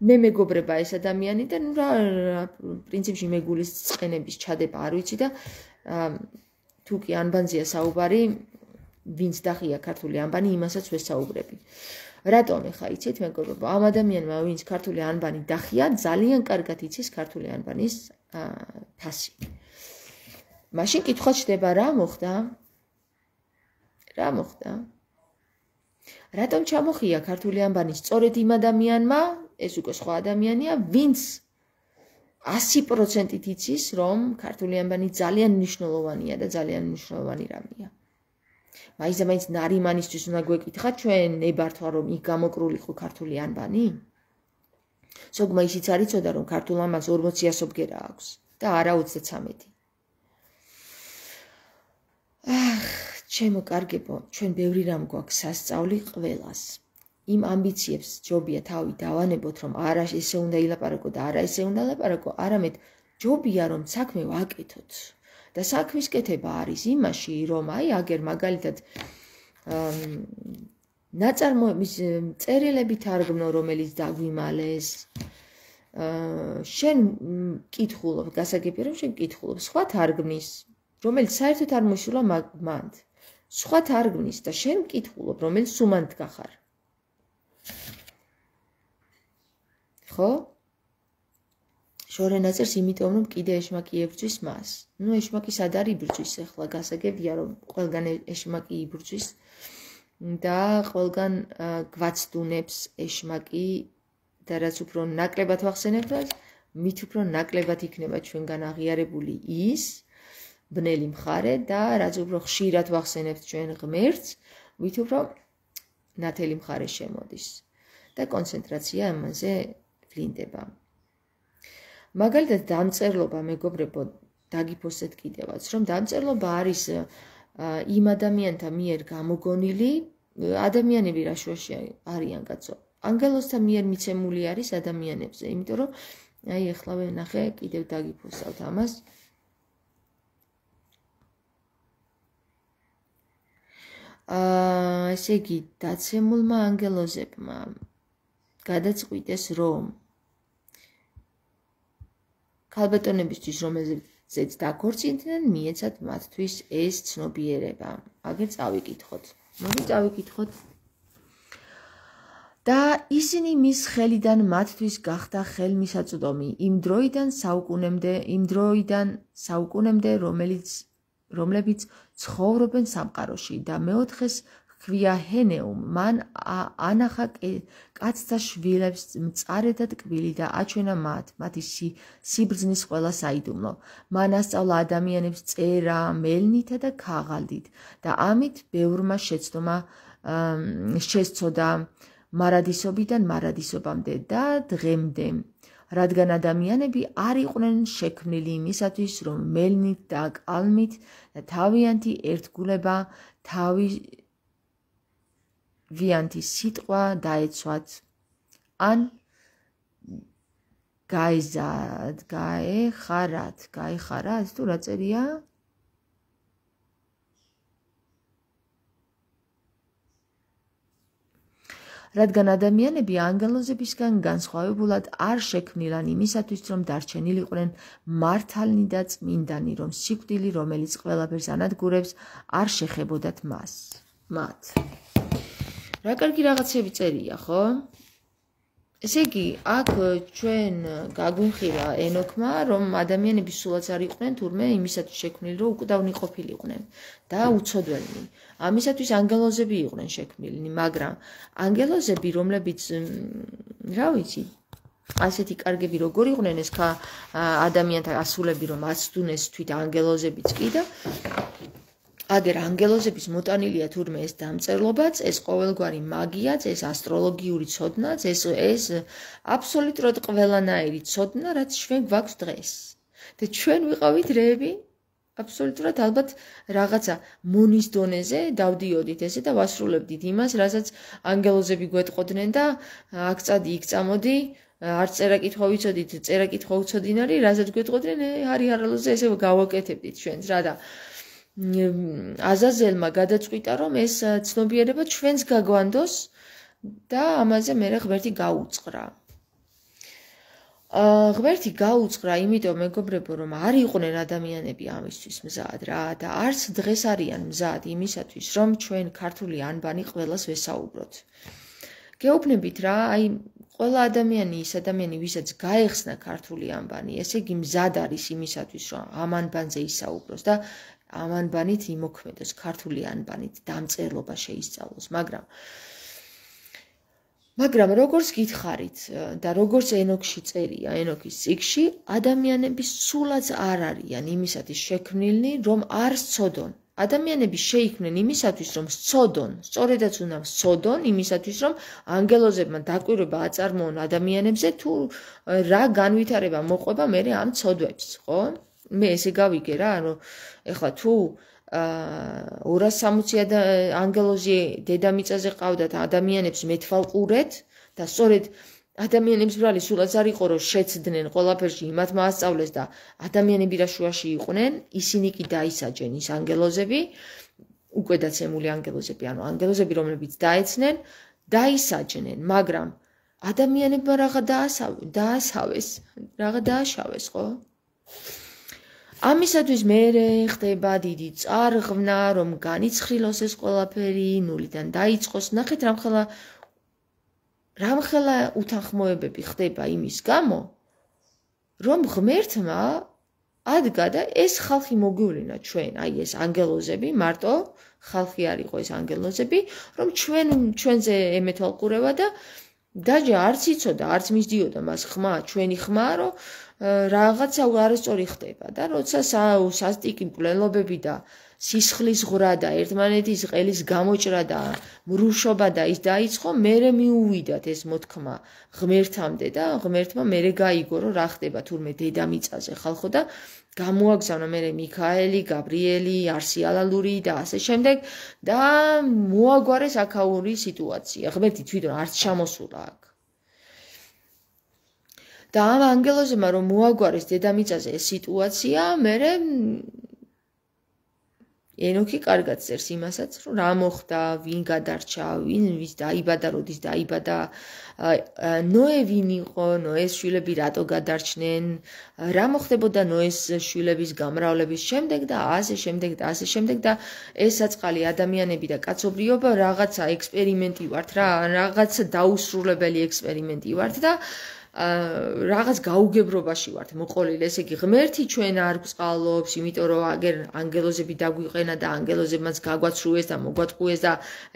მე მეგობრება ეს ადამიანი და ნუ რა პრინციპში მეგულის წყენების ჩადება არ ვიცი და თუ კი ანბანზეა საუბარი ვინც დახია ქართული ანბანი იმასაც ვესაუბრები. რატომ ეხა იცით მეგობრებო ამ ადამიანმა ვინც ქართული ანბანი დახია ძალიან კარგად იცის ქართული ანბანის ფასი. მაშინ კითხვა ჩდება რა მოხდა? რა მოხდა? რატომ ჩამოხია ქართული ანბანი სწორედ იმ ადამიანმა ეს უკვე სხვა ადამიანია, ვინც ასი პროცენტით იცის, რომ ქართული ანბანი ძალიან მნიშვნელოვანია და ძალიან მნიშვნელოვანი რამეა. მაინც და მაინც ნარიმანისთვის უნდა გვეკითხა, ჩვენ ნებართვა რომ იქ გამოკრულიყო ქართული ანბანი? ზოგმა ისიც არ იცოდა, რომ ქართულ ანბანს ორმოცი ასო ბგერა აქვს და არა ოცდაცამეტი. ახ, ჩემო კარგებო, ჩვენ ბევრი რამ გვაქვს სასწავლი ყველას. იმ ამბიციებს ჯობია თავი დავანებოთ, რომ არა ესე უნდა ილაპარაკო და არა ესე უნდა ლაპარაკო, არამედ ჯობია რომ საქმე ვაკეთოთ. და საქმის კეთება არის იმაში, რომ აი აგერ მაგალითად ნაწარმოების წერილები თარგმნო, რომელიც დაგვიმალეს. შენ კითხულობ, გასაგებია რომ შენ კითხულობ, სხვა თარგმნის, რომელიც საერთოდ არ მოისურვა მანდ. სხვა თარგმნის და შენ კითხულობ, რომელიც სუმანდ გახარ. ხო? შორე ნაწერს იმიტომ რომ კიდე ეშმაკი ებრძვის მას. ნუ ეშმაკი სად არის იბრძვის ახლა გასაგებია რომ ყველგან ეშმაკი იბრძვის და ყველგან გვაცდუნებს ეშმაკი და რაც უფრო ნაკლებად ვახსენებთ, მით უფრო ნაკლებად იქნება ჩვენგან აღიარებული ის ბნელი მხარე და რაც უფრო ხშირად ვახსენებთ ჩვენ ღმერთს, მით უფრო ნათელი მხარე შემოდის და კონცენტრაცია ამაზე ვლინდება. მაგალითად დამწერლობა მეგობრებო დაგიფოსეთ კიდევაც, რომ დამწერლობა არის იმ ადამიანთა მიერ გამოგონილი ადამიანები რა შუაში არიან კაცო. ანგელოზთა მიერ მიცემული არის ადამიანებზე, იმიტომ რომ აი ეხლა ნახე კიდევ დაგიფოსავთ ამას. აა ესე იგი დაცემულმა ანგელოზებმა გადაწყვიტეს რომ ქალბატონებისთვის რომელზეც დაქორწინდნენ მიეცათ მათთვის ეს ცნობიერება. აგერ წავიკითხოთ. მოდი წავიკითხოთ. და ისინი მის ხელიდან მათთვის გახდა ხელმისაწვდომი იმ დროიდან საუკუნემდე, იმ დროიდან საუკუნემდე, რომელიც რომლებიც ცხოვრობენ სამყაროში და მეოთხეს ჰქვია ჰენეუმ, მან ანახა კაცთა შვილებს მწარე და ტკბილი და აჩვენა მათ, მათი სიბრძნის ყველა საიდუმლო. მან ასწავლა ადამიანებს წერა, მელნითა და ქაღალდით და ამით ბევრმა შეცდომა შესწოდა მარადისობიდან მარადისობამდე და დღემდე. რადგან ადამიანები არ იყვნენ შექმნილი იმისათვის, რომ მელნით და კალმით და თავიანთი ერთგულება თავიანთი სიტყვა დაეცვათ, ან გაეზად, გაეხარათ, გაეხარათ, თუ რა წერია? რადგან ადამიანები ანგელოზებისგან განსხვავებულად არ შექმნილან იმისათვის, რომ დარჩენილიყვნენ მართალნი და წმინდანი, რომ სიკვდილი, რომელიც ყველაფერს ანადგურებს, არ შეხებოდათ მას. მათ. რა კარგი რაღაცები წერია, ხო? ესე იგი, აქ ჩვენ გაგვიმხირა ენოქმა, რომ ადამიანები სულაც არ იყვნენ, თურმე იმისათვის შექმნილი, რომ უკვდავნი ყოფილიყვნენ და უცოდველნი. ამისათვის ანგელოზები იყვნენ შექმნილნი, მაგრამ ანგელოზები, რომლებიც, რა ვიცი, ასეთი კარგები როგორ იყვნენ, ეს ხა ადამიანთა ასულები, რომ აცდუნეს თვით ანგელოზებიც კი და აგერ ანგელოზების მოტანილია თურმე ეს დამწერლობაც, ეს ყოველგვარი მაგიაც, ეს ასტროლოგიური ცოდნაც, ეს ეს აბსოლუტურად ყველანაირი ცოდნა, რაც ჩვენ გვაქვს დღეს. და ჩვენ ვიყავით რეები, აბსოლუტურად ალბათ რაღაცა მონის დონეზე დავდიოდით ესე და ვასრულებდით იმას, რასაც ანგელოზები გვეტყოდნენ და აქ წადი, იქ წამოდი, არ წერა კითხვა ვიცოდით, წერა კითხვა უცოდინარი, რასაც გვეტყოდნენ, არი არალოზე ესე გავაკეთებდით ჩვენს რა და აზაზელმა გადაწყვიტა, რომ ეს ცნობიერება ჩვენს გაგვანდოს და ამაზე მერე ღმერთი გაუწყრა. ღმერთი გაუწყრა, იმიტომ მეგობრებო, რომ არ იყვნენ ადამიანები ამისთვის მზად რა და არც დღეს არიან მზად იმისათვის, რომ ჩვენ ქართული ანბანი ყველას ვესაუბროთ. გეუბნებით რა, აი ყველა ადამიანი ის ადამიანი, ვისაც გაეხსნა ქართული ანბანი, ესე იგი მზად არის იმისათვის, რომ ამ ანბანზე ისაუბროს და ამ ანბანით იმოქმედოს, ქართული ანბანით დამწერლობა შეისწავლოს, მაგრამ მაგრამ როგორც გითხარით და როგორც ენოქში წერია, ენოქის წიგნში, ადამიანები სულაც არ არიან იმისათვის შექმნილნი, რომ არ სცოდონ. ადამიანები შეიქმნენ იმისათვის, რომ სცოდონ, სწორედაც უნდა სცოდონ იმისათვის, რომ ანგელოზებმა დაკვირვება აწარმოონ ადამიანებზე, თუ რა განვითარება მოყვება მერე ამ ცოდვებს, ხო? მე ესე გავიგე რა, რომ ეხლა თუ ორას სამოცი ანგელოზი დედამიწაზე ყავდათ ადამიანებს მეთვალყურეთ და სწორედ ადამიანებს ბრალი სულაც არ იყო, რომ შეცდნენ ყველაფერში იმათ მაასწავლეს და ადამიანები რა შუაში იყვნენ, ისინი კი დაისაჯენ ის ანგელოზები, უკვე დაცემული ანგელოზები, ანუ ანგელოზები, რომლებიც დაეცნენ, დაისაჯნენ, მაგრამ ადამიანებმა რაღა დაასავეს, რაღა დააშავეს, ხო? ამისათვის მერე ხდება დიდი წარღვნა, რომ განიცხრილოს ეს ყველაფერი, ნულიდან დაიწყოს. ნახეთ რამხელა რამხელა უთანხმოებები ხდება იმის გამო, რომ ღმერთმა ადგა და ეს ხალხი მოგვივლინა ჩვენ, აი ეს ანგელოზები, მარტო ხალხი არ იყო ეს ანგელოზები, რომ ჩვენ ჩვენზე ემეთვალყურება და დაჯა არც იცოდა, არც მისდიოდა მას ხმა, ჩვენი ხმა, რომ რაღაცა არასწორი ხდება და როცა სასტიკი მკვლელობები და სისხლის ღვრა და ერთმანეთის ყელის გამოჭრა და მრუშობა და ის დაიწყო, მერე მიუვიდათ ეს მოთქმა ღმერთამდე და ღმერთმა მერე გაიგო, რომ რა ხდება თურმე დედამიწაზე ხალხო და გამოაგზავნა მერე მიქაელი, გაბრიელი, არსი ალალური და ასე შემდეგ და მოაგვარეს აქაური სიტუაცია. ღმერთი თვითონ არც ჩამოსულა აქ. და ამ ანგელოზებმა რომ მოაგვარეს დედამიწაზე ეს სიტუაცია, მერე ენოქი კარგად წერს იმასაც, რომ რა მოხდა, ვინ გადარჩა, ვინ ვის დაიბადა, როდის დაიბადა, ნოე ვინ იყო, ნოეს შვილები რატო გადარჩნენ, რა მოხდებოდა ნოეს შვილების გამრავლების შემდეგ და ასე შემდეგ და ასე შემდეგ და ეს საწყალი ადამიანები და კაცობრიობა რაღაცა ექსპერიმენტი ვართ რა, რაღაცა დაუსრულებელი ექსპერიმენტი ვართ და რაღაც გაუგებრობაში ვართ მოყოლილი, ესე იგი ღმერთი ჩვენ არ გვწყალობს, იმიტომ რომ აგერ ანგელოზები დაგვიყენა და ანგელოზებმაც გაგვაცრუეს და მოგვატყუეს და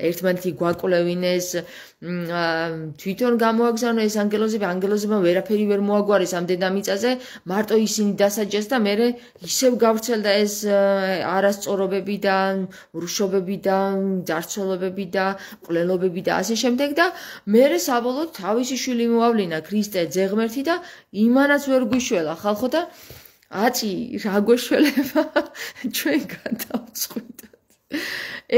ერთმანეთი გვაკვლევინეს, თვითონ გამოაგზავნა ეს ანგელოზები, ანგელოზებმა ვერაფერი ვერ მოაგვარეს ამ დედამიწაზე, მარტო ისინი დასაჯეს და მერე ისევ გავრცელდა ეს არასწორობები და რუშობები და ძარცველობები და მკვლელობები და ასე შემდეგ და მერე საბოლოოდ თავისი შვილი მოავლინა ქრისტე ძეღმერთი და იმანაც ვერ გვიშველა ხალხო და აწი რა გვეშველება ჩვენ გადავწყვიტოთ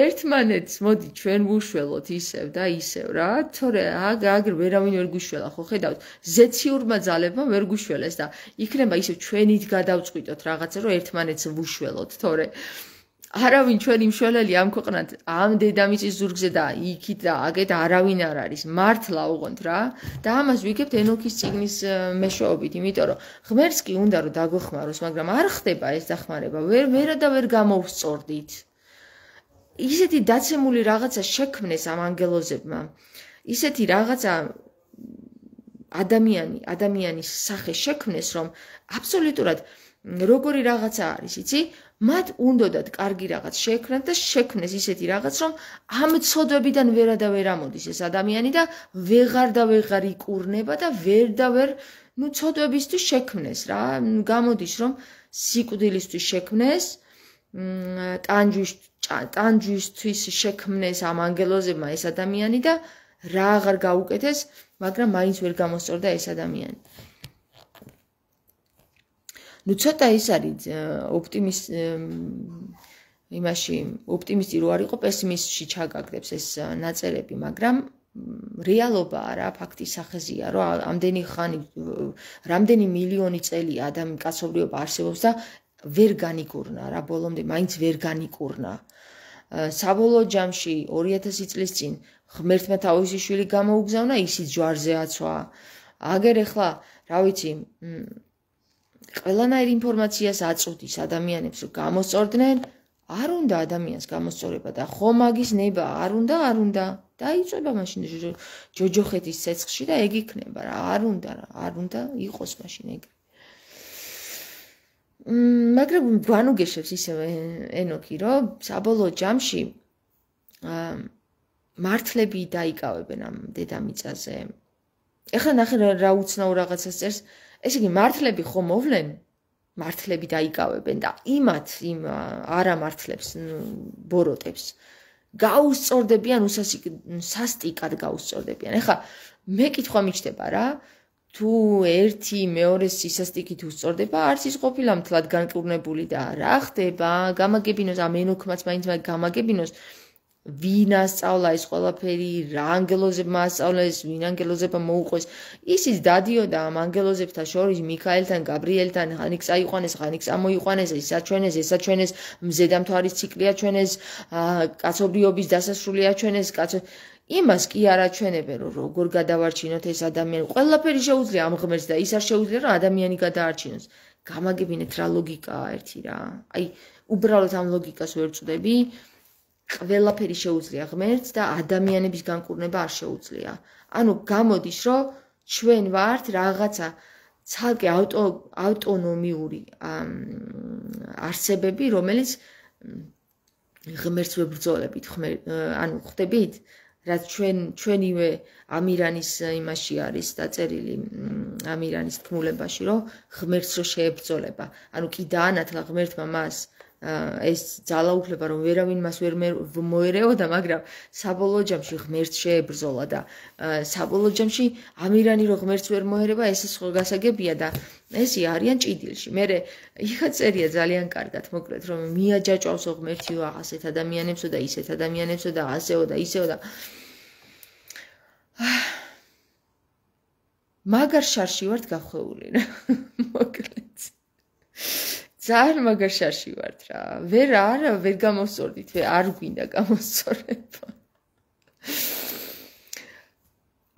ერთმანეთს მოდი ჩვენ ვუშველოთ ისევ და ისევ რა თორე აგერ ვერავინ ვერ გვიშველა ხო ხედავთ ზეციურმა ძალებმა ვერ გვიშველეს და იქნება ისევ ჩვენით გადავწყვიტოთ რაღაცა რომ ერთმანეთს ვუშველოთ თორე არავინ ჩვენი მშველელი ამ ქვეყნად ამ დედამიწის ზურგზე და იქით და აგეთ არავინ არ არის მართლა უღონთ რა და ამას ვიგებთ ენოქის წიგნის მეშვეობით იმიტომ რომ ღმერთს კი უნდა რომ დაგვეხმაროს მაგრამ არ ხდება ეს დახმარება ვერ ვერა და ვერ გამოვსწორდით ისეთი დაცემული რაღაცა შექმნეს ამ ანგელოზებმა ისეთი რაღაცა ადამიანი ადამიანის სახე შექმნეს რომ აბსოლუტურად როგორი რაღაცა არის იცი მათ უნდათ კარგი რაღაც შექმნათ და შექმნეს ისეთი რაღაც რომ ამ ცოდვებიდან ვერა და ვერ ამოდის ეს ადამიანი და ვეღარ და ვეღარ იკურნება და ვერ და ვერ ნუ ცოდვებისთვის შექმნეს რა გამოდის რომ სიკვდილისთვის შექმნეს ტანჯვის ტანჯვისთვის შექმნეს ამ ანგელოზებმა ეს ადამიანი და რა აღარ გაუკეთეს მაგრამ მაინც ვერ გამოსწორდა ეს ადამიანი ნუ ცოტა ის არის ოპტიმის იმაში ოპტიმისტი რო არ იყო პესიმისტში ჩაგაგდებს ეს ნაწერები მაგრამ რეალობაა რა ფაქტის სახეზია რომ ამდენი ხანი რამდენი მილიონი წელი ადამი კაცობრიობა არსებობს და ვერ განიკურნა რა ბოლომდე მაინც ვერ განიკურნა საბოლოო ჯამში ორი ათასი წლის წინ ღმერთმა თავისი შვილი გამოუგზავნა ისიც ჯვარზე აცვა აგერ ახლა რა ვიცი ყველანაირ ინფორმაციას აწვდის ადამიანებს რომ გამოსწორდნენ არ უნდა ადამიანს გამოსწორება და ხომაგის ნება არ უნდა არ უნდა დაიწვება მაშინ ჯოჯოხეთის ცეცხლში და ეგ იქნება რა არ უნდა რა არ უნდა იყოს მაშინ ეგ მაგრამ გვანუგეშებს ისევ ენოქი რომ საბოლოო ჯამში მართლები დაიკავებენ ამ დედამიწაზე ეხლა ნახე რა უცნაურ რაღაცას წერს ესე იგი მართლები ხომ მოვლენ მართლები დაიკავებენ და იმათ იმ არამართლებს ბოროტებს გაუსწორდებიან სასტიკად გაუსწორდებიან ეხლა მე კითხვა მიჩნდება რა თუ ერთი მეორეს სისასტიკით უსწორდება არც ის ყოფილა მთლად განკურნებული და რა ხდება გამაგებინოს ამ ენოქმაც მაინც გამაგებინოს ვინ ასწავლა ეს ყველაფერი რა ანგელოზებმა ასწავლეს ვინ ანგელოზებმა მოუყვეს ისიც დადიოდა ამ ანგელოზებთან შორის მიქაელთან გაბრიელთან ხანიკ წაიყვანეს ხანიკ წამოიყვანეს ეს აჩვენეს ეს აჩვენეს მზედამთვარის ციკლი აჩვენეს კაცობრიობის დასასრული აჩვენეს კაცო იმას კი არ აჩვენებენ რომ როგორ გადავარჩინოთ ეს ადამიანი ყველაფერი შეუძლია ამ ღმერთს და ის არ შეუძლია რომ ადამიანი გადაარჩინოს გამაგებინეთ რა ლოგიკაა ერთი რა აი უბრალოდ ამ ლოგიკას ვერ წვდები ყველაფერი შეუძლია ღმერთს და ადამიანების განკურნება არ შეუძლია. ანუ გამოდის, რომ ჩვენ ვართ რაღაცა ცალკე ავტო ავტონომიური არსებები, რომელიც ღმერთს ვებრძოლებით, ანუ ხვდებით, რაც ჩვენ ჩვენივე ამირანის იმაში არის დაწერილი ამირანის თქმულებაში, რომ ღმერთს რო შეებრძოლება. ანუ კი დაანათლა ღმერთმა მას ეს ძალაუფლება რომ ვერავინ მას ვერ მოერეოდა, მაგრამ საბოლოო ჯამში ღმერთს შეებრძოლა და საბოლოო ჯამში ამირანი რომ ღმერთს ვერ მოერება, ეს სხვა გასაგებია და ესე არიან ჭიდილში. მე იქა წერია ძალიან კარგად, მოკლედ რომ მიაჯაჭვავსო ღმერთიო ასეთ ადამიანებსო და ისეთ ადამიანებსო და ასეო და ისეო და მაგარ შარში ვართ გახვეული რა. მოკლედ ძალიან მაგარ შარში ვართ რა. ვერ არა, ვერ გამოსწორდით, არ გვინდა გამოსწორება.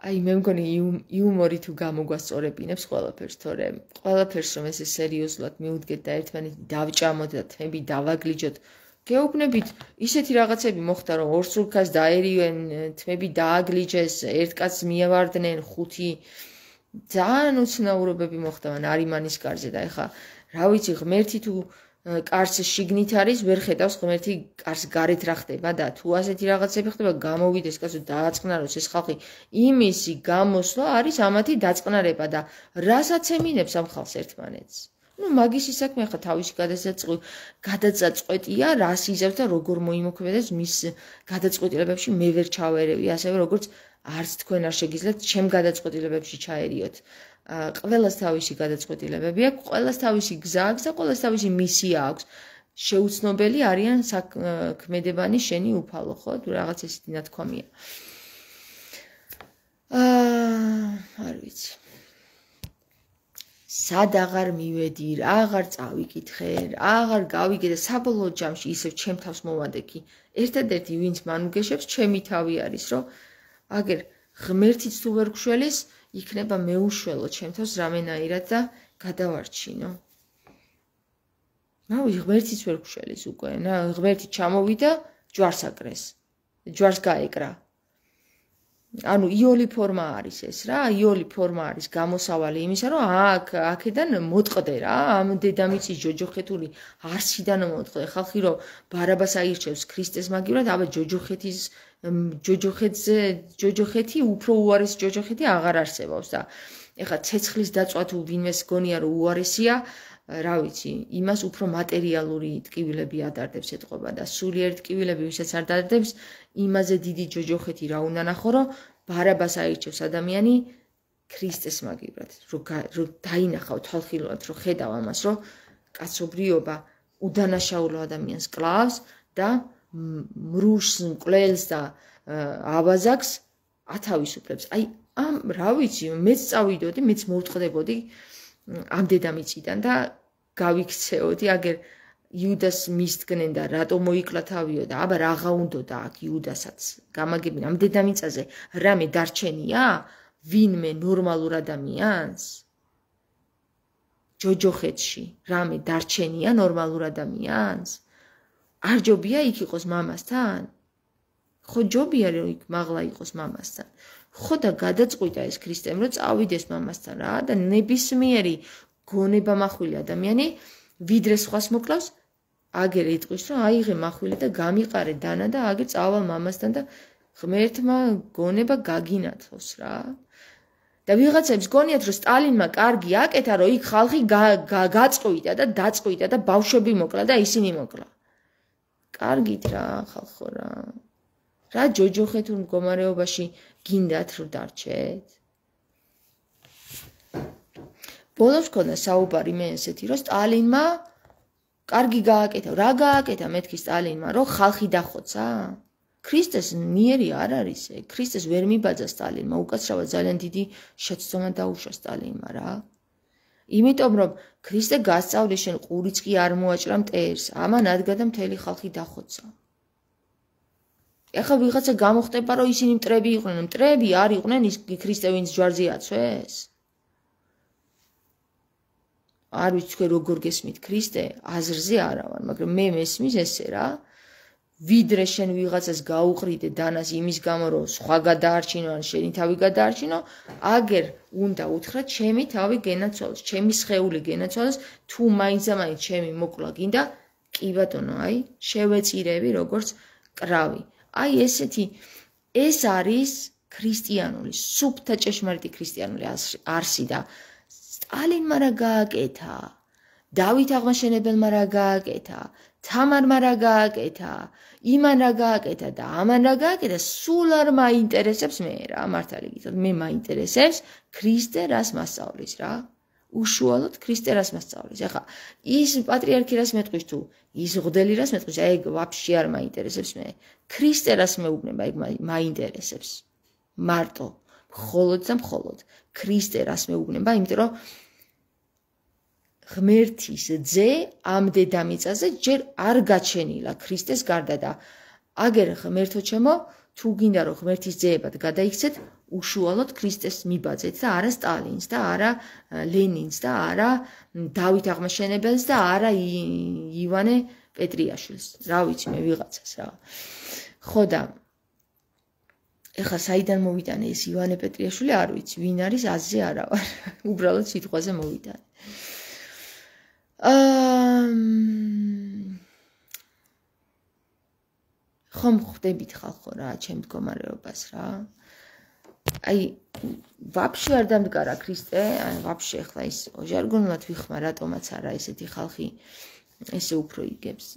აი მე მგონი იუმორი თუ გამოგვასწორებინებს ყველაფერს, თორე ყველაფერს რომ ესე სერიოზულად მიუდგეთ და ერთმანეთი დავჭამოთ და თმები დავაგლიჯოთ, გეუბნებით ისეთი რაღაცები მოხდა რომ ორ სულქას დაერივენ, თმები დააგლიჯეს, ერთ კაცს მიევარდნენ, ხუთი ძალიან უცნაურობები მოხდა არიმანის კარზე და ეხა რა ვიცი ღმერთი თუ კარს შიგნით არის ვერ ხედავს ღმერთი კარს გარეთ რა ხდება და თუ ასეთი რაღაცები ხდება გამოვიდეს კაცო დააწყნაროს ეს ხალხი იმისი გამოსვლა არის ამათი დაწყნარება და რასაც ემინებს ამ ხალხს ერთმანეთს ну მაგის საქმე ხა თავისი გადაწყვეტი გადაწყვეტია რას იზევს და როგორ მოიმოქმედებს მის გადაწყვეტილებებში მე ვერ ჩავერევი ასევე როგორც არც თქვენ არ შეგიძლიათ ჩემ გადაწყვეტილებებში ჩაერიოთ ყველას თავისი გადაწყვეტილებები აქვს ყველას თავისი გზა აქვს და ყველას თავისი მისია აქვს შეუცნობელი არიან საქმედებანი შენი უფალო ხო თუ რაღაც ესეთი ნათქვამია აა არ ვიცი სად აღარ მივედი, აღარ წავიკითხე, აღარ გავიგე და საბოლოო ჯამში ისევ ჩემ თავს მოვადექი. ერთადერთი ვინც მან უგეშებს, ჩემი თავი არის, რომ აგერ ღმერთიც თუ ვერ გშველის, იქნება მეუშველო ჩემ თავს რამენაირად და გადავარჩინო. ნუ ღმერთიც ვერ გშველის უკვე, ღმერთი ჩამოვიდა, ჯვარს აკრეს. ჯვარს გაეკრა. ანუ იოლი ფორმა არის ეს რა, იოლი ფორმა არის გამოსავალი იმისა, რომ აქ აქედან მოტყდე რა, ამ დედამიწის ჯოჯოხეთული არსიდან მოტყდე. ხალხი რომ ბარაბას აირჩევს ქრისტეს მაგივრად, აბა ჯოჯოხეთის ჯოჯოხეთზე ჯოჯოხეთი უფრო უარეს ჯოჯოხეთი აღარ არსებობს და ეხლა ცეცხლის დაწვა თუ ვინმეს გონია რომ უარესია, რა ვიცი, იმას უფრო მატერიალური ტკივილები ადარდებს ეთყობა და სულიერი ტკივილები ვისაც არ დადარდებს, იმაზე დიდი ჯოჯოხეთი რა უნდა ნახო, რომ ბარაბას აირჩევს ადამიანი ქრისტეს მაგივრად, რომ დაინახავ თვალხილულად, რომ ხედავ ამას, რომ კაცობრიობა უდანაშაულო ადამიანს კლავს და მრუშს, მკვლელს და აბაზაკს ათავისუფლებს. აი, ამ რა ვიცი, მეც წავიდოდი, მეც მოვტყდებოდი ამ დედამიწიდან და გავიქცეოდი, აგერ იუდას მისდგნენ და რატო მოიკლა თავიო და აბა რაღა უნდოდა აქ იუდასაც გამაგებინ ამ დედამიწაზე რამე დარჩენია ვინმე ნორმალურ ადამიანს ჯოჯოხეთში რამე დარჩენია ნორმალურ ადამიანს არ ჯობია იქ იყოს მამასთან ხო ჯობია რომ იქ მაღლა იყოს მამასთან ხო და გადაწყვიტა ეს ქრისტემ რომ წავიდეს მამასთან რა და ნებისმიერი გონება מחვილი ადამიანი ვიდრე სხვას მოკლავს აგერ იტყვის რომ აიღე מחვილი და გამიყარე დანა და აგერ წავალ მამასთან და ღმერთმა გონება გაგინათოს რა და ვიღაცებს გონიათ რომ სტალინმა კარგი აკეთა რომ იქ ხალხი გაწყვიტა და დაწყვიტა და ბავშვები მოკლა და ისინი მოკლა კარგით რა ხალხო რა რა ჯოჯოხეთურ მდგომარეობაში გინდათ რომ დარჩეთ ბოლოს ქონდა საუბარი მე ესეთი რომ სტალინმა კარგი გააკეთა რა გააკეთა მეთქი სტალინმა რომ ხალხი დახოცა ქრისტეს მიერი არ არის ეგ ქრისტეს ვერ მიბაძა სტალინმა უკაცრავად ძალიან დიდი შეცდომა დაუშვა სტალინმა რა იმიტომ რომ ქრისტე გასწავლეს შენ ყურიც კი არ მოაჭრა მტერს ამან ადგა და მთელი ხალხი დახოცა ეხლა ვიღაცა გამოხდება რომ ისინი მტრები იყვნენ მტრები არ იყვნენ ის ქრისტე ვინც ჯვარზე აცვეს არ ვიცი თქვენ როგორ გესმით ქრისტე აზრზე არა ვარ მაგრამ მე მესმის ესე რა ვიდრე შენ ვიღაცას გაუყრიდე დანას იმის გამო რომ სხვა გადაარჩინო ან შენი თავი გადაარჩინო აგერ უნდა უთხრა ჩემი თავი გენაცვალოს ჩემი სხეული გენაცვალოს თუ მაინც და მაინც ჩემი მოკლა გინდა კი ბატონო აი შევეწირები როგორც კრავი აი ესეთი ეს არის ქრისტიანული სუფთა ჭეშმარიტი ქრისტიანული არსი და სტალინმა რა გააკეთა დავით აღმაშენებელმა რა გააკეთა თამარმა რა გააკეთა იმან რა გააკეთა და ამან რა გააკეთა სულ არ მაინტერესებს მე რა მართალი გითხრათ მე მაინტერესებს ქრისტე რას მასწავლის რა უშუალოდ ქრისტე რას მასწავლის ახლა ის პატრიარქი რას მეტყვის თუ ის ღდელი რას მეტყვის აი ეგ ვაფშე არ მაინტერესებს მე ქრისტე რას მეუბნება ეგ მაინტერესებს მარტო მხოლოდ და მხოლოდ ქრისტე რას მეუბნება იმიტომ რომ ღმერთის ძე ამ დედამიწაზე ჯერ არ გაჩენილა ქრისტეს გარდა და აგერ ღმერთო ჩემო თუ გინდა რომ ღმერთის ძეებად გადაიქცეთ უშუალოდ ქრისტეს მიბაძეთ და არა სტალინს და არა ლენინს და არა დავით აღმაშენებელს და არა ივანე პეტრიაშვილს რა ვიცი მე ვიღაცას რა ხო და ეხლა საიდან მოვიტანე ეს ივანე პეტრიაშვილი არ ვიცი, ვინ არის აზზე არა ვარ. უბრალოდ სიტყვაზე მოვიტანე. აა ხომ ხვდებით ხალხო რა, ჩემ მდგომარეობას რა. აი ვაფშე არ დამდგარა ქრისტე, აი ვაფშე ახლა ის ჟარგონულად ვიხმარ, რატომაც არა ესეთი ხალხი ესე უფრო იგებს.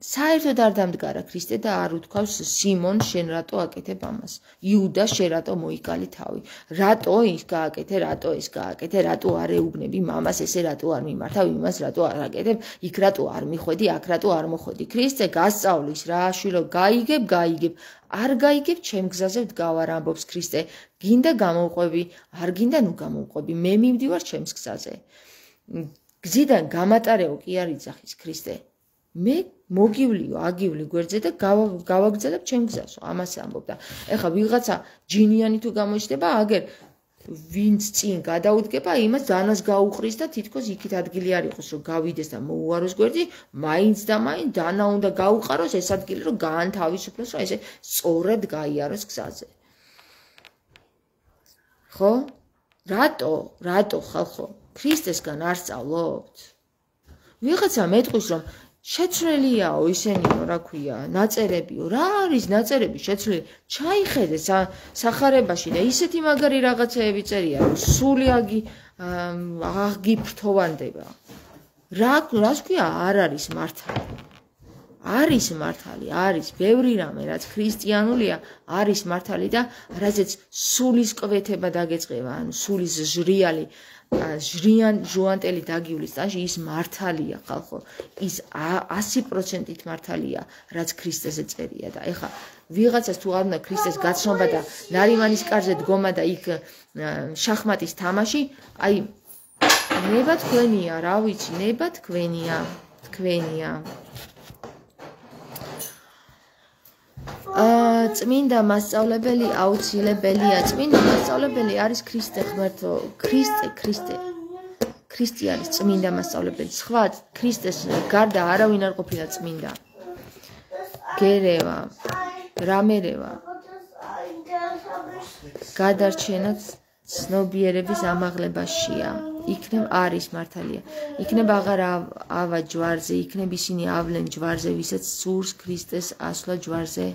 საერთოდ არ დამდგარა ქრისტე და არ უთქვავს სიმონ შენ რატო აკეთებ ამას? იუდა შენ რატო მოიკალი თავი? რატო ის გააკეთე, რატო ეს გააკეთე, რატო არ ეუბნები მამას, ესე რატო არ მიმართავ, იმას რატო არ აკეთებ, იქ რატო არ მიხვედი, აქ რატო არ მოხვედი? ქრისტე გასწავლის რა, შვილო, გაიგებ, გაიგებ. არ გაიგებ, ჩემ გზაზე ვდგავარ, ამბობს ქრისტე. გინდა გამოვყვები, არ გინდა ნუ გამოვყვები, მე მივდივარ ჩემს გზაზე. გზიდან გამატარეო კი არ იძახის ქრისტე. მე მოგივლიო, აგივლი გვერდზე და გავაგრძელებ ჩემ გზას, ამას ამბობდა. ეხლა ვიღაცა ჯინიანი თუ გამოჩნდება, აგერ ვინც წინ გადაუდგება, იმას დანას გაუყრის და თითქოს იქით ადგილი არ იყოს, რომ გავიდეს და მოუაროს გვერდი, მაინც და მაინც დანა უნდა გაუყაროს ეს ადგილი, რომ გაანთავისუფლოს, რომ ესე სწორად გაიაროს გზაზე. ხო? რატო? რატო ხალხო? ქრისტესგან არ სწავლობთ? ვიღაცა მეტყვის, რომ შეცვლელიაო ისენიო, რა ქვია, ნაწერებიო, რა არის ნაწერები შეცვლილი? ჩაიხედე სახარებაში და ისეთი მაგარი რაღაცეები წერია, რომ სული აგი აგიფრთოვანდება. რა რას ქვია, არ არის მართალი. არის მართალი, არის ბევრი რამე, რაც ქრისტიანულია, არის მართალი და რაზეც სულის კვეთება დაგეწყება, ანუ სულის ჟრიალი ჟრიან ჟუანტელი დაგივლის ტანში ის მართალია ხალხო, ის ასი პროცენტით მართალია, რაც ქრისტეზე წერია და ეხლა ვიღაცას თუ არ უნდა ქრისტეს გაცნობა და ნარიმანის კარზე დგომა და იქ შახმატის თამაში, აი ნება თქვენია, რა ვიცი, ნება თქვენია, თქვენია. წმინდა მასწავლებელი აუცილებელია. წმინდა მასწავლებელი არის ქრისტე ღმერთო, ქრისტე, ქრისტე. ქრისტე არის წმინდა მასწავლებელი. სხვა ქრისტეს გარდა არავინ არ ყოფილა წმინდა. გერევა, რამერევა. გადარჩენა ცნობიერების ამაღლებაშია. იქნებ არის მართალია. იქნებ აღარ ავა ჯვარზე, იქნებ ისინი ავლენ ჯვარზე, ვისაც სურს ქრისტეს ასვლა ჯვარზე.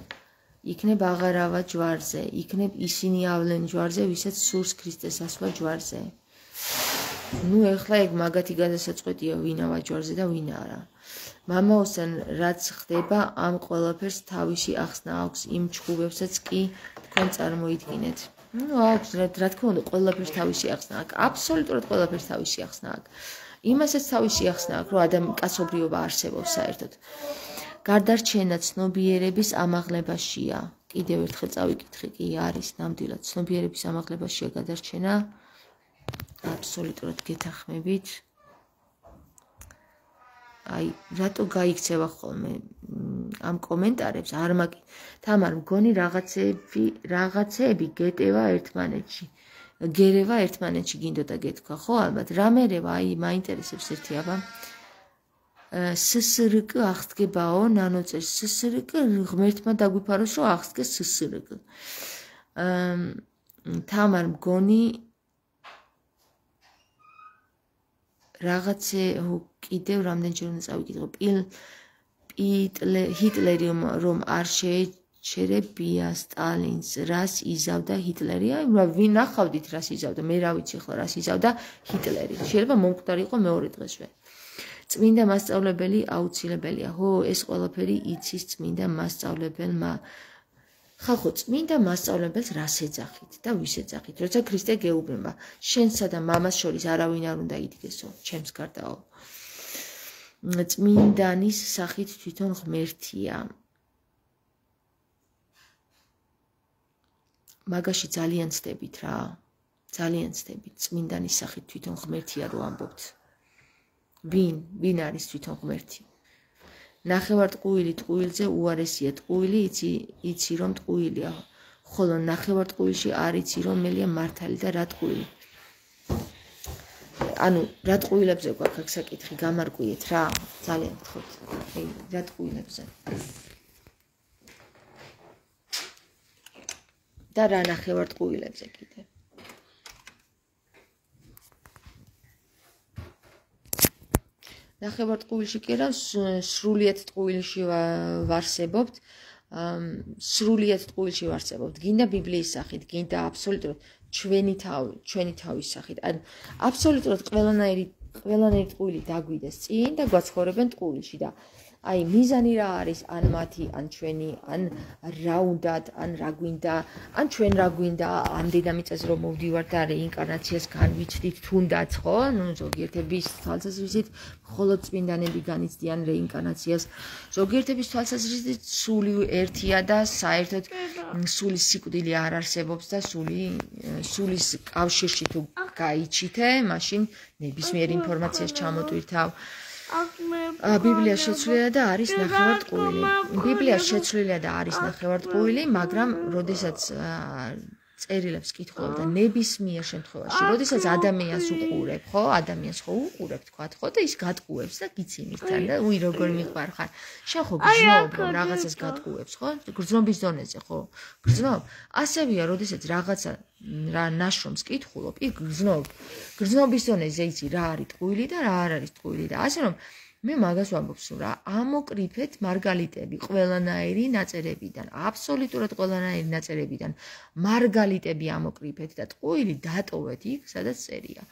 იქნებ აღარ ავა ჯვარზე, იქნებ ისინი ავლენ ჯვარზე, ვისაც სურს ქრისტეს ასვლა ჯვარზე. ნუ ეხლა ეგ მაგათი გადასაწყვეტია ვინ ავა ჯვარზე და ვინ არა. მამაოსთან რაც ხდება, ამ ყველაფერს თავისი ახსნა აქვს, იმ ჩხუბებსაც კი თქვენ წარმოიდგინეთ. ნუ აქვს, რა თქმა უნდა, ყველაფერს თავისი ახსნა აქვს, აბსოლუტურად ყველაფერს თავისი ახსნა აქვს. იმასაც თავისი ახსნა აქვს, რომ ადამი კაცობრიობა არსებობს საერთოდ. გარდარჩენა ცნობიერების ამაღლებაშია. კიდევ ერთხელ წავიკითხე, კი არის ნამდვილად ცნობიერების ამაღლებაშია გადარჩენა. აბსოლუტურად გეთანხმებით. აი, რატო გაიქცევა ხოლმე ამ კომენტარებს? არ მაგი. თამარ მგონი რაღაცები, რაღაცეები გეტევა ერთმანეთში. გერევა ერთმანეთში გინდოდა გეთქვა, ხო ალბათ. რამერევა, აი, მაინტერესებს ერთი აბა. სსრკ აღსდგებაო, ნანოწერს სსრკ ღმერთმა დაგვიფაროს, რომ აღსდგეს სსრკ. თამარ მგონი რაღაცე კიდევ რამდენჯერ უნდა წავიკითხო. ჰიტლერი რომ არ შეეჩერებია სტალინს, რას იზავდა ჰიტლერი? აი, ვინ ნახავდით რას იზავდა? მე რა ვიცი ახლა რას იზავდა ჰიტლერი. შეიძლება მომკვდარი იყო მეორე დღესვე. წმინდა მასწავლებელი აუცილებელია. ხო, ეს ყველაფერი იცის წმინდა მასწავლებელმა. ხალხო, წმინდა მასწავლებელს რას ეძახით და ვის ეძახით? როცა ქრისტე გეუბნება, შენსა და მამას შორის არავინ არ უნდა იდგესო, ჩემს გარდაო. წმინდანის სახით თვითონ ღმერთია. მაგაში ძალიან ცდებით რა. ძალიან ცდებით. წმინდანის სახით თვითონ ღმერთია რო ამბობთ. ვინ? ვინ არის თვითონ ღმერთი? ნახევარტყუილი ტყუილზე უარესია. ტყუილი იცი, იცი რომ ტყუილია. ხოლო ნახევარტყუილში არ იცი რომ მელია მართალი და რა ტყუილი. ანუ რა ტყუილებზე გვაქვს აქ საკითხი, გამარკვიეთ რა. ძალიან გთხოვთ. აი, რა ტყუილებზე. და რა ნახევარტყუილებზე კიდე. ნახევარტყუილში კი რა სრულიად ტყუილში ვარსებობთ. სრულიად ტყუილში ვარსებობთ. გინდა ბიბლიის სახით, გინდა აბსოლუტურად ჩვენი თავი, ჩვენი თავის სახით. ან აბსოლუტურად ყველანაირი ყველანაირი ტყუილი დაგვიდეს წინ და გვაცხოვრებენ ტყუილში და აი მიზანი რა არის ან მათი ან ჩვენი ან რა უნდათ ან რა გვინდა ან ჩვენ რა გვინდა ამდენამე წელს რომ მოვდივართ და რეინკარნაციას განვიცდით თუნდაც ხო ნუ ზოგიერთების თვალსაზრისით მხოლოდ წმინდანები განიცდიან რეინკარნაციას ზოგიერთების თვალსაზრისით სული ერთია და საერთოდ სულის სიკვდილი არ არსებობს და სული სულის კავშირში თუ გაიჩითე მაშინ ნებისმიერ ინფორმაციას ჩამოტვირთავ ბიბლიაში შეცვლილია და არის ნახევარტყუილი. ბიბლიაში შეცვლილია და არის ნახევარტყუილი, მაგრამ როდესაც წერილებს კითხულობ და ნებისმიერ შემთხვევაში, როდესაც ადამიანს უყურებ, ხო, ადამიანს ხო უყურებ, თქვათ, ხო და ის გატყუებს და გიცინით თან და უი როგორ მიყვარ ხარ. შენ ხო გრძნობ რომ რაღაცას გატყუებს, ხო? გრძნობის დონეზე, ხო? გრძნობ. ასევეა, როდესაც რაღაცა რა ნაშრომს კითხულობ, იქ გრძნობ. გრძნობის დონეზე იცი რა არის ტყუილი და რა არ არის ტყუილი და ასე რომ მე მაგას ვამბობ სულ რა ამოკრიფეთ მარგალიტები ყველანაირი ნაწერებიდან აბსოლუტურად ყველანაირი ნაწერებიდან მარგალიტები ამოკრიფეთ და ტყუილი დატოვეთ იქ სადაც წერია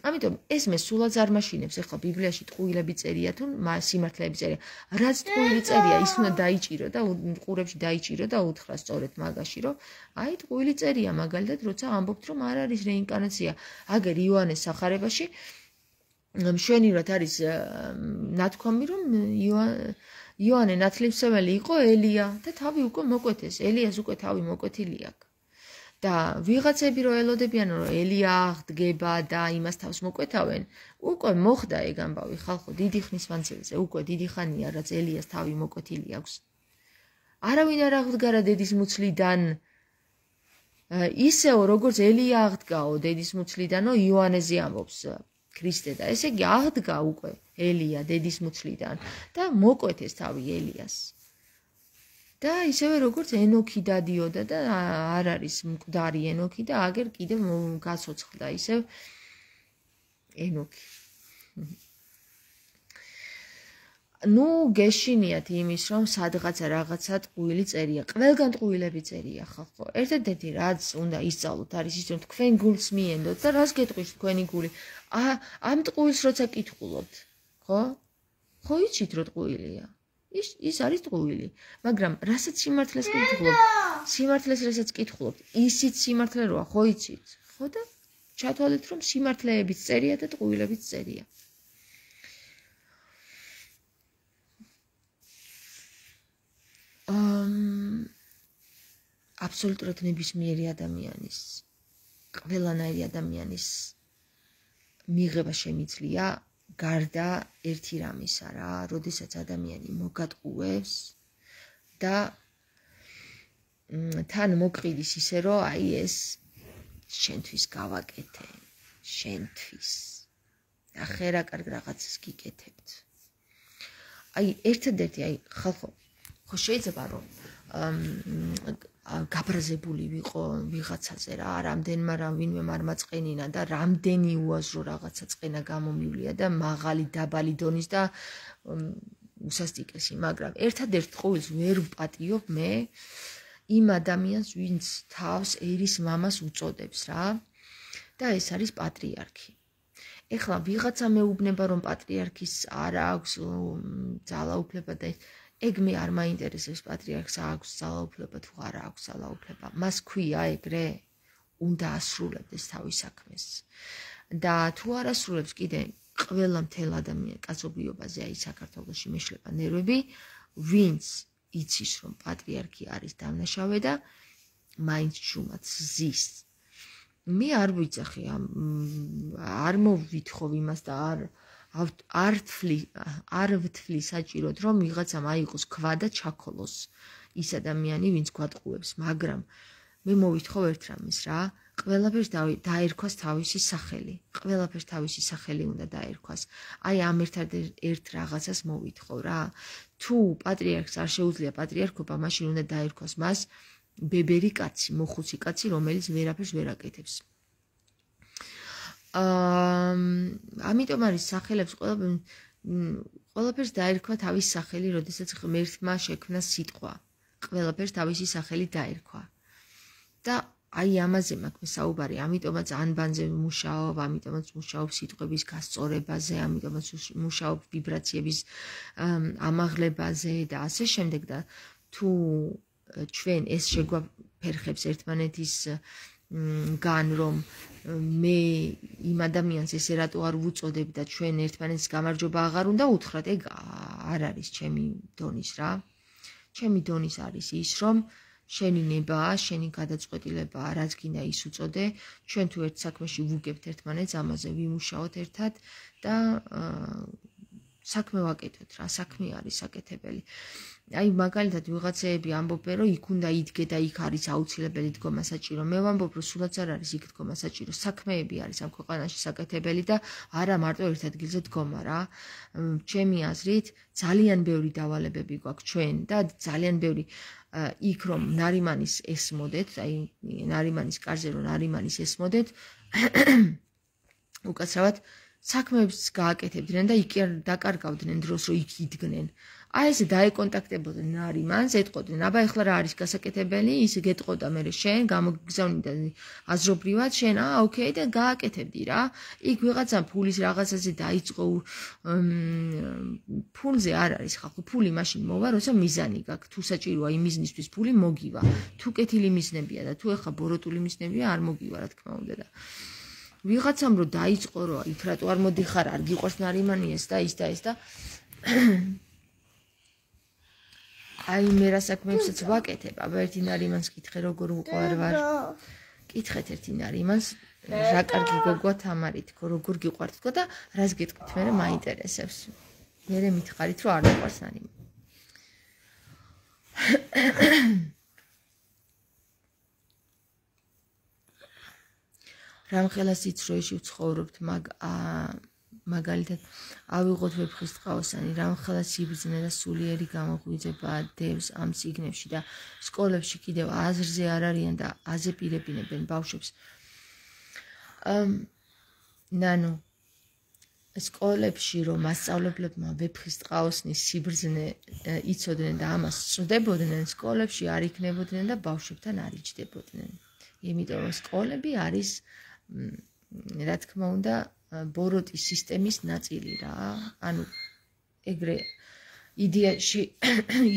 ამიტომ ეს მე სულაც არ მაშინებს ეხლა ბიბლიაში ტყუილები წერია თუ სიმართლეები წერია რაც ტყუილი წერია ის უნდა დაიჭირო და ყურებში დაიჭირო და უთხრა სწორედ მაგაში რომ აი ტყუილი წერია მაგალითად როცა ამბობთ რომ არ არის რეინკარნაცია აგერ იოანეს სახარებაში მშვენივრად არის ნათქვამი რომ იოანე ნათლისმცემელი იყო ელია და თავი უკვე მოკვეთეს ელიას უკვე თავი მოკვეთილი აქვს და ვიღაცები რო ელოდებიან რომ ელია აღდგება და იმას თავს მოკვეთავენ უკვე მოხდა ეგ ამბავი ხალხო დიდი ხნის მანძილზე უკვე დიდი ხანია რაც ელიას თავი მოკვეთილი აქვს არავინ არ აღდგარა დედის მუცლიდან ისეო როგორც ელია აღდგაო დედის მუცლიდანო იოანეზე ამბობს ქრისტე და ესე იგი აღდგა უკვე ელია დედის მუცლიდან და მოკვეთეს თავი ელიას და ისევე როგორც ენოქი დადიოდა და არ არის მკვდარი ენოქი და აგერ კიდევ გაცოცხლდა ისევ ენოქი ნუ გეშინიათ იმის რომ სადღაცა რაღაცა ტყუილი წერია ყველგან ტყუილები წერია ხალხო ერთადერთი რაც უნდა ისწავლოთ არის ის რომ თქვენ გულს მიენდოთ და რას გეტყვის თქვენი გული ამ ტყუილს როცა კითხულობთ ხო ხო იცით რომ ტყუილია ის ის არის ტყუილი მაგრამ რასაც სიმართლეს კითხულობთ სიმართლეს რასაც კითხულობთ ისიც სიმართლე როა ხო იცით ხო და ჩათვალეთ რომ სიმართლეებიც წერია და ტყუილებიც წერია აბსოლუტურად ნებისმიერი ადამიანის ყველანაირი ადამიანის მიღება შემიძლია გარდა ერთი რამისა რა, როდესაც ადამიანი მოგატყუებს და თან მოყიდის ისე რომ აი ეს შენთვის გავაკეთე, შენთვის. ახლა რა კარგ რაღაცას გიკეთებთ. აი ერთადერთი აი ხალხო ხო შეიძლება რომ გაბრაზებული ვიყო ვიღაცაზე რა რამდენმა რა ვინმე არ მაწყენინა და რამდენი უაზრო რაღაცა წყენა გამომივლია და მაღალი დაბალი დონის და უსასტიკესი მაგრამ ერთადერთ ტყუილს ვერ ვპატიობ მე იმ ადამიანს ვინც თავს ერის მამას უწოდებს რა და ეს არის პატრიარქი ეხლა ვიღაცა მეუბნება რომ პატრიარქის არ აქვს ძალაუფლება და ეგ მე არ მაინტერესებს პატრიარქს აქვს ძალაუფლება თუ არ აქვს ძალაუფლება მას ქვია ეგრე უნდა ასრულებდეს თავის საქმეს და თუ არ ასრულებს კიდე ყველა მთელ ადამიან კაცობრიობაზე აი საქართველოში მეშლება ნერვები ვინც იცის რომ პატრიარქი არის დამნაშავე და მაინც შუმაც ზის მე არ ვიცახი არ მოვითხოვ იმას და არ არ თვლი არ ვთვლი საჭიროდ რომ ვიღაცამ აიყოს ქვა და ჩაქოლოს ის ადამიანი ვინც გვატყუებს მაგრამ მე მოვითხოვ ერთ რამეს რა ყველაფერს დაერქვას თავისი სახელი ყველაფერს თავისი სახელი უნდა დაერქვას აი ამ ერთ რაღაცას მოვითხოვ რა თუ პატრიარქს არ შეუძლია პატრიარქობა მაშინ უნდა დაერქვას მას ბებერი კაცი, მოხუცი კაცი, რომელიც ვერაფერს ვერ აკეთებს. აა ამიტომ არის სახელებს ყველა ყველაფერს დაერქვა თავის სახელი, როდესაც ღმერთმა შექმნა სიტყვა. ყველაფერს თავისი სახელი დაერქვა. და აი ამაზე მაქვს საუბარი, ამიტომაც ანბანზე მუშაობ, ამიტომაც მუშაობ სიტყვების გასწორებაზე, ამიტომაც მუშაობ ვიბრაციების ამაღლებაზე და ასე შემდეგ და თუ ჩვენ ეს შეგვაფერხებს ერთმანეთის გან რომ მე იმ ადამიანს ესე რატო არ ვუწოდებ და ჩვენ ერთმანეთს გამარჯობა აღარ უნდა უთხრათ, ეგ არ არის ჩემი დონის რა. ჩემი დონის არის ის, რომ შენი ნება, შენი გადაწყვეტილებაა, რაც გინდა ის უწოდე, ჩვენ თუ ერთ საქმეში ვუგებთ ერთმანეთს, ამაზე ვიმუშაოთ ერთად და საქმე ვაკეთოთ რა, საქმე არის საკეთებელი. აი მაგალითად ვიღაცეები ამბობენ, რომ იქ უნდა იდგე და იქ არის აუცილებელი დგომა საჭირო. მე ვამბობ, რომ სულაც არ არის იქ დგომა საჭირო. საქმეები არის ამ ქვეყანაში საკეთებელი და არა მარტო ერთ ადგილზე დგომა რა. ჩემი აზრით, ძალიან ბევრი დავალებები გვაქვს ჩვენ და ძალიან ბევრი იქ რომ ნარიმანის ესმოდეთ, აი ნარიმანის კარზე რომ ნარიმანის ესმოდეთ, უკაცრავად საქმეებს გააკეთებდნენ და იქ დაკარგავდნენ დროს, რომ იქ იდგნენ. აი ესე დაეკონტაქტებოდნენ ნარიმანს, ეტყოდნენ, აბა ეხლა რა არის გასაკეთებელი, ის გეტყოდა მე შენ, გამოგგზავნიდა აზრობრივად, შენ აა ოკეი და გააკეთებდი რა. იქ ვიღაცა ფულის რაღაცაზე დაიწყო ფულზე არ არის ხალხო, ფული მაშინ მოვა, როცა მიზანი გაქვს. თუ საჭიროა იმ მიზნისთვის ფული მოგივა. თუ კეთილი მიზნებია და თუ ეხლა ბოროტული მიზნებია, არ მოგივა რა თქმა უნდა და ვიღაცამ რო დაიწყო რა, იქ რატო არ მოდიხარ, არ გიყვარს ნარიმანი ეს და ის და ეს და აი მე რა საქმეებსაც ვაკეთებ, აბა ერთი ნარიმანს კითხე როგორ უყვარ ვარ. კითხეთ ერთი ნარიმანს, რა კარგი გოგოა თამარი თქო, როგორ გიყვართ თქო და რას გეტყვით მე მაინტერესებს. მე მითხარით რომ არ მიყვარს ნარიმანი. რამხელა სიცრუეში ვცხოვრობთ, მაგ მაგალითად ავიღოთ ვეფხის ტყავოსანი, რამხელა სიბრძნე და სულიერი გამოღვიძება დევს ამ სიგნებში და სკოლებში კიდევ აზრზე არ არიან და აზეპირებინებენ ბავშვებს. ნანო სკოლებში რომ მასწავლებლებმა ვეფხის ტყაოსნის სიბრძნე იცოდნენ და ამას სწდებოდნენ, სკოლებში არ იქნებოდნენ და ბავშვებთან არ იჯდებოდნენ. იმიტომ რომ სკოლები არის რა თქმა უნდა ბოროტის სისტემის ნაწილი რა. ანუ ეგრე იდეაში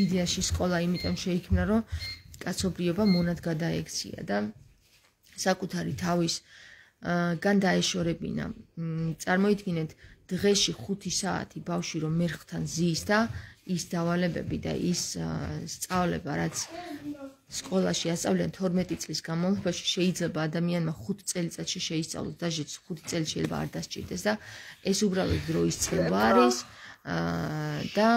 იდეაში სკოლა იმიტომ შეიქმნა, რომ კაცობრიობა მონად გადაექცია და საკუთარი თავის გან დაეშორებინა. წარმოიდგინეთ, დღეში ხუთი საათი ბავშვი რომ მერხთან ზის და ის დავალებები და ის სწავლება, რაც სკოლაში ასწავლიან თორმეტი წლის განმავლობაში, შეიძლება ადამიანმა ხუთ წელიწადში შეისწავლოს, დაჟეც ხუთი წელი შეიძლება არ დასჭირდეს და ეს უბრალოდ დროის წელვა არის და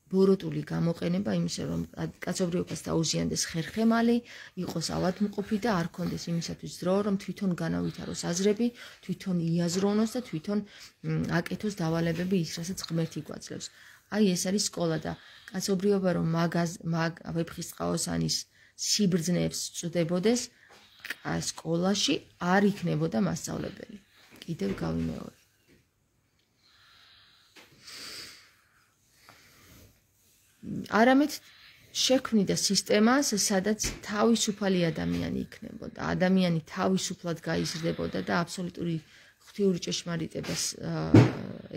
ბოროტული გამოყენება იმისა, რომ კაცობრიობას დაუზიანდეს ხერხემალი, იყოს ავადმყოფი და არ ქონდეს იმისათვის დრო, რომ თვითონ განავითაროს აზრები, თვითონ იაზროვნოს და თვითონ აკეთოს დავალებები ის, რასაც ღმერთი გვაძლევს. აი ეს არის სკოლა და კაცობრიობა რომ მაგ ვეფხის ტყაოსანის სიბრძნეებს წვდებოდეს, სკოლაში არ იქნებოდა მასწავლებელი. კიდევ გავიმეორე. არამედ შექმნიდა სისტემას, სადაც თავისუფალი ადამიანი იქნებოდა. ადამიანი თავისუფლად გაიზრდებოდა და აბსოლუტური ღვთიური ჭეშმარიტებას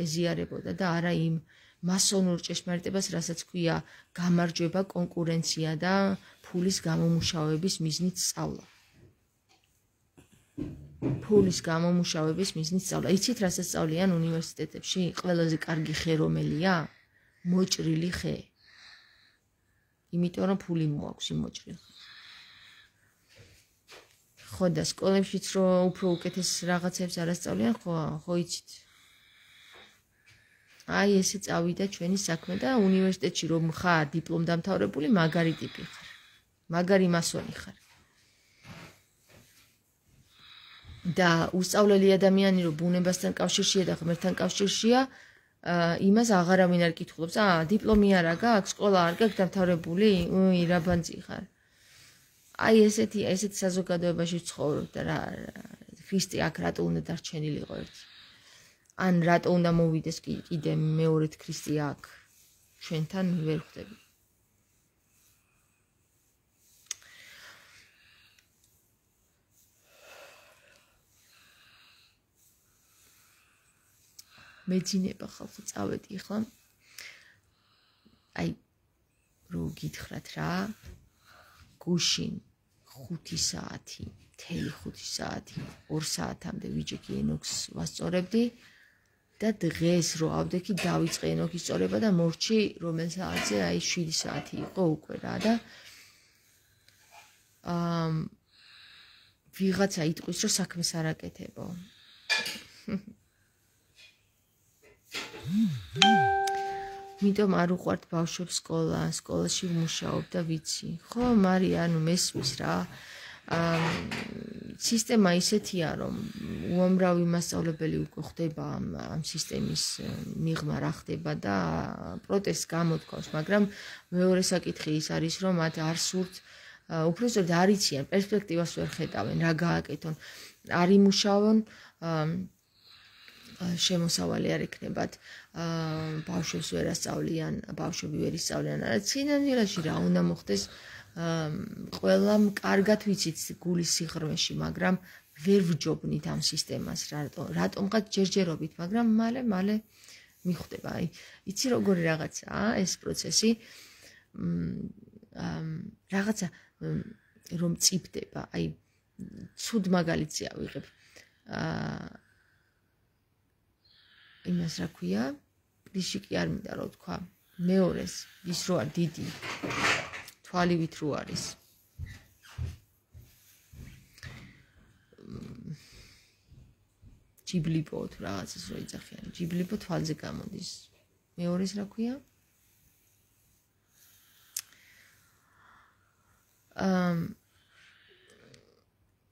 ეზიარებოდა და არა იმ მასონურ ჭეშმარიტებას, რასაც ქვია გამარჯვება, კონკურენცია და ფულის გამომუშავების მიზნით სწავლა. ფულის გამომუშავების მიზნით სწავლა. იცით, რასაც სწავლიან უნივერსიტეტებში? ყველაზე კარგი ხე რომელია? მოჭრილი ხე. იმიტომ რომ ფული მოაქვს იმ მოჭრილ ხეს. ხო და სკოლებშიც რო უფრო უკეთეს რაღაცებს არ ასწავლიან, ხო, ხო იცით. აი ესე წავიდა ჩვენი საქმე და უნივერსიტეტში რომ ხარ დიპლომ დამთავრებული, მაგარი ტიპი ხარ. მაგარი მასონი ხარ. და უსწავლელი ადამიანი რომ ბუნებასთან კავშირშია და ღმერთთან კავშირშია, იმას აღარავინ არ კითხულობს. აა, დიპლომი არა გაქვს, სკოლა არ გაქვს დამთავრებული? უი, რა ბანძი ხარ. აი ესეთი ესეთ საზოგადოებაში ვცხოვრობ და რა ქრისტე აქ რატო უნდა დარჩენილიყო ერთი ან რატო უნდა მოვიდეს კიდე მეორედ ქრისტე აქ ჩვენთან ვერ ხვდები მეძინება ხალხი წავედი ახლა აი რო გითხრათ რა გუშინ ხუთი საათი მთელი ხუთი საათი ორ საათამდე ვიჯექი ენოქს ვასწორებდი და დღეს რო ავდექი დავიწყე ენოქის სწორება და მორჩი რომელ საათზე აი შვიდი საათი იყო უკვე რა და აა ვიღაცა იტყვის რომ საქმეს არ აკეთებო მიტომ არ უყვართ ბავშვებს სკოლა, სკოლაში ვმუშაობ და ვიცი. ხო, მარია, ანუ მესმის რა. აა სისტემა ისეთია, რომ უამრავი მასწავლებელი უკვე ხდება ამ ამ სისტემის მიღმა რა ხდება და პროტესტს გამოთქვავს, მაგრამ მეორე საკითხი ის არის, რომ მათ არ სურთ უბრალოდ არ იციან, პერსპექტივას ვერ ხედავენ, რა გააკეთონ. არ იმუშაონ შემოსავალი არ ეკნებათ ბავშვებს ვერ ასწავლიან, ბავშვები ვერ ისწავლიან, არა სინამდვილეში რა უნდა მოხდეს ყველამ კარგად ვიცით გულის სიღრმეში, მაგრამ ვერ ვჯობნით ამ სისტემას, რატომღაც ჯერჯერობით, მაგრამ მალე მალე მიხვდება. აი, იცი როგორი რაღაცაა ეს პროცესი, რაღაცა რომ წიფდება, აი ცუდ მაგალითზე ავიღებ. აა იმას რა ქვია, პრიშიკი არ მინდა რა თქვა. მეორეს, ის რო არ დიდი თვალივით რო არის. ჯიბლიპო თუ რაღაცას რო იძახიან, ჯიბლიპო თვალზე გამოდის. მეორეს რა ქვია? აა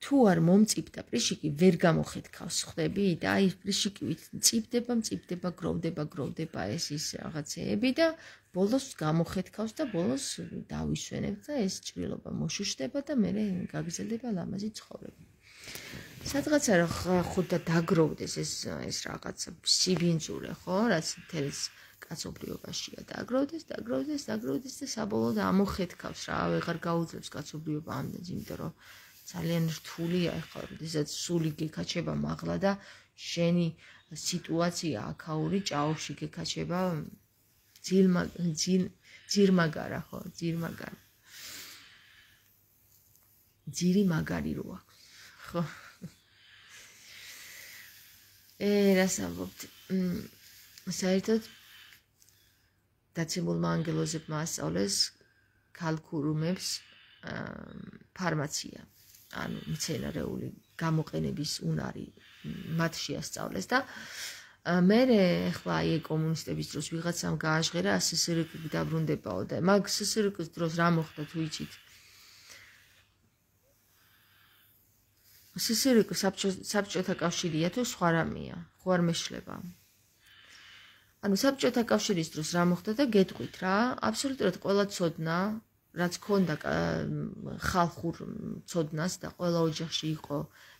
თუ არ მომწიფდა პრიშიკი ვერ გამოხეთქავს ხვდები და აი პრიშიკივით მწიფდება, მწიფდება, გროვდება, გროვდება ეს ის რაღაცეები და ბოლოს გამოხეთქავს და ბოლოს დავისვენებ და ეს ჭრილობა მოშუშდება და მე გაგრძელდება ლამაზი ცხოვრება. სადღაცა რა ხუდა დაგროვდეს ეს ეს რაღაცა სიბინძურე, ხო, რაც თელს კაცობრიობაშია დაგროვდეს, დაგროვდეს, დაგროვდეს და საბოლოოდ ამოხეთქავს რა, აღარ გაუძლებს კაცობრიობა ამდენს, იმიტომ რომ ძალიან რთულია ახლა, როდესაც სული გეკაჩება მაღლა და შენი სიტუაცია აქაური ჭაობში გეკაჩება ძილმა ძირმაგარა, ხო, ძირმაგარა. ძირი მაგარი რო აქვს, ხო. ე, რას ამბობთ? საერთოდ დაცემულმა ანგელოზებმა ასწავლეს ქალქურუმებს ფარმაცია. ანუ მცენარეული გამოყენების უნარი მათ შეასწავლეს და მე ახლა აი კომუნისტების დროს ვიღაცამ გააჟღერა სსრკ დაბრუნდებაო და მაგ სსრკ-ის დროს რა მოხდა თუ იცით? სსრკ საბჭოთა კავშირია თუ სხვა რამეა, ხო არ მეშლება. ანუ საბჭოთა კავშირის დროს რა მოხდა და გეტყვით რა, აბსოლუტურად ყველა ცოდნა რაც ქონდა ხალხურ ცოდნას და ყველა ოჯახში იყო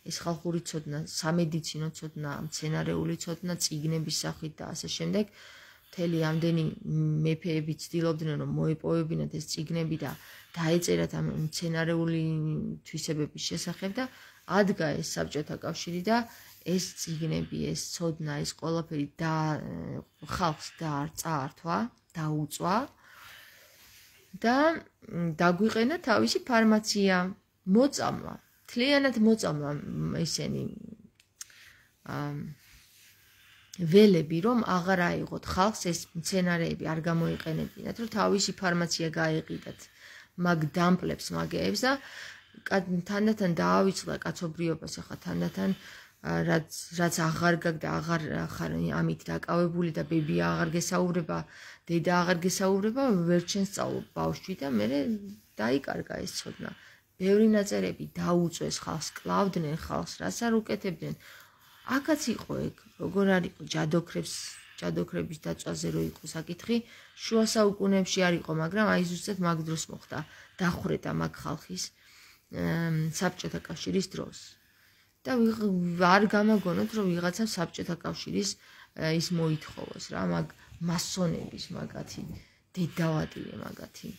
ეს ხალხური ცოდნა, სამედიცინო ცოდნა, მცენარეული ცოდნა, წიგნების სახით და ასე შემდეგ. მთელი ამდენი მეფეები ცდილობდნენ რომ მოეპოვებინათ ეს წიგნები და დაეწერათ ამ მცენარეული თვისებების შესახებ და ადგა ეს საბჭოთა კავშირი და ეს წიგნები, ეს ცოდნა, ეს ყველაფერი და ხალხს დააწართვა, დაუწვა. და დაგვიყენა თავისი ფარმაცია, მოწამლა, თლიანად მოწამლა ისენი ველები, რომ აღარ აიღოთ ხალხს ეს მცენარეები არ გამოიყენებინათ, რომ თავისი ფარმაცია გაეყიდათ მაგ დამპლებს, მაგეებს და თანდათან დაავიწყდა კაცობრიობას, ახლა თანდათან რაც რაც აღარ გაგდა, აღარ ხარ ამით დაკავებული და ბებია აღარ გესაუბრება, დედა აღარ გესაუბრება, ვერ ჩენს სწავლობ ბავშვი და მე დაიკარგა ეს ცოდნა. ბევრი ნაწერები დაუწვეს ხალხს, კლავდნენ ხალხს, რაც არ უკეთებდნენ. აქაც იყო ეგ, როგორ არ იყო ჯადოქრებს, ჯადოქრების დაწვაზე რო იყო საკითხი, შუა საუკუნეებში არ იყო, მაგრამ აი ზუსტად მაგ დროს მოხდა, დახვრეტა მაგ ხალხის საბჭოთა კავშირის დროს. და არ გამაგონოთ, რომ ვიღაცა საბჭოთა კავშირის ის მოითხოვოს რა, მაგ მასონების მაგათი დედავატირე მაგათი.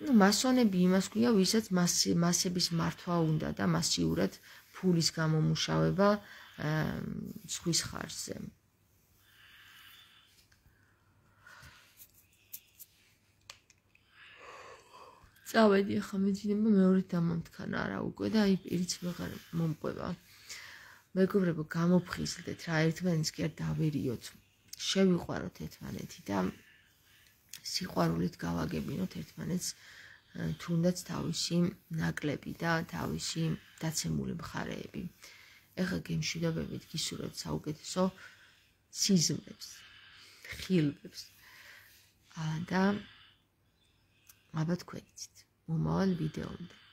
ну მასონები იმას ქვია, ვისაც მასების მართვა უნდა და მასიურად ფულის გამომუშავება ზღვის ხარჯზე. წავედი ახლა მეძინება მეორე დამამთქანა არა უკვე და აი პირიც ვეღარ მომყვება. მეგობრებო, გამოფხიზლდეთ რა, ერთმანეთს კი არ დავერიოთ. შევიყვაროთ ერთმანეთი და სიყვარულით გავაგებინოთ ერთმანეთს თუნდაც თავისი ნაკლები და თავისი დაცემული მხარეები. ეხლა გემშვიდობებით გისურვებთ საუკეთესო სიზმრებს, ხილვებს და აბა თქვენ იცით მომავალ ვიდეომდე.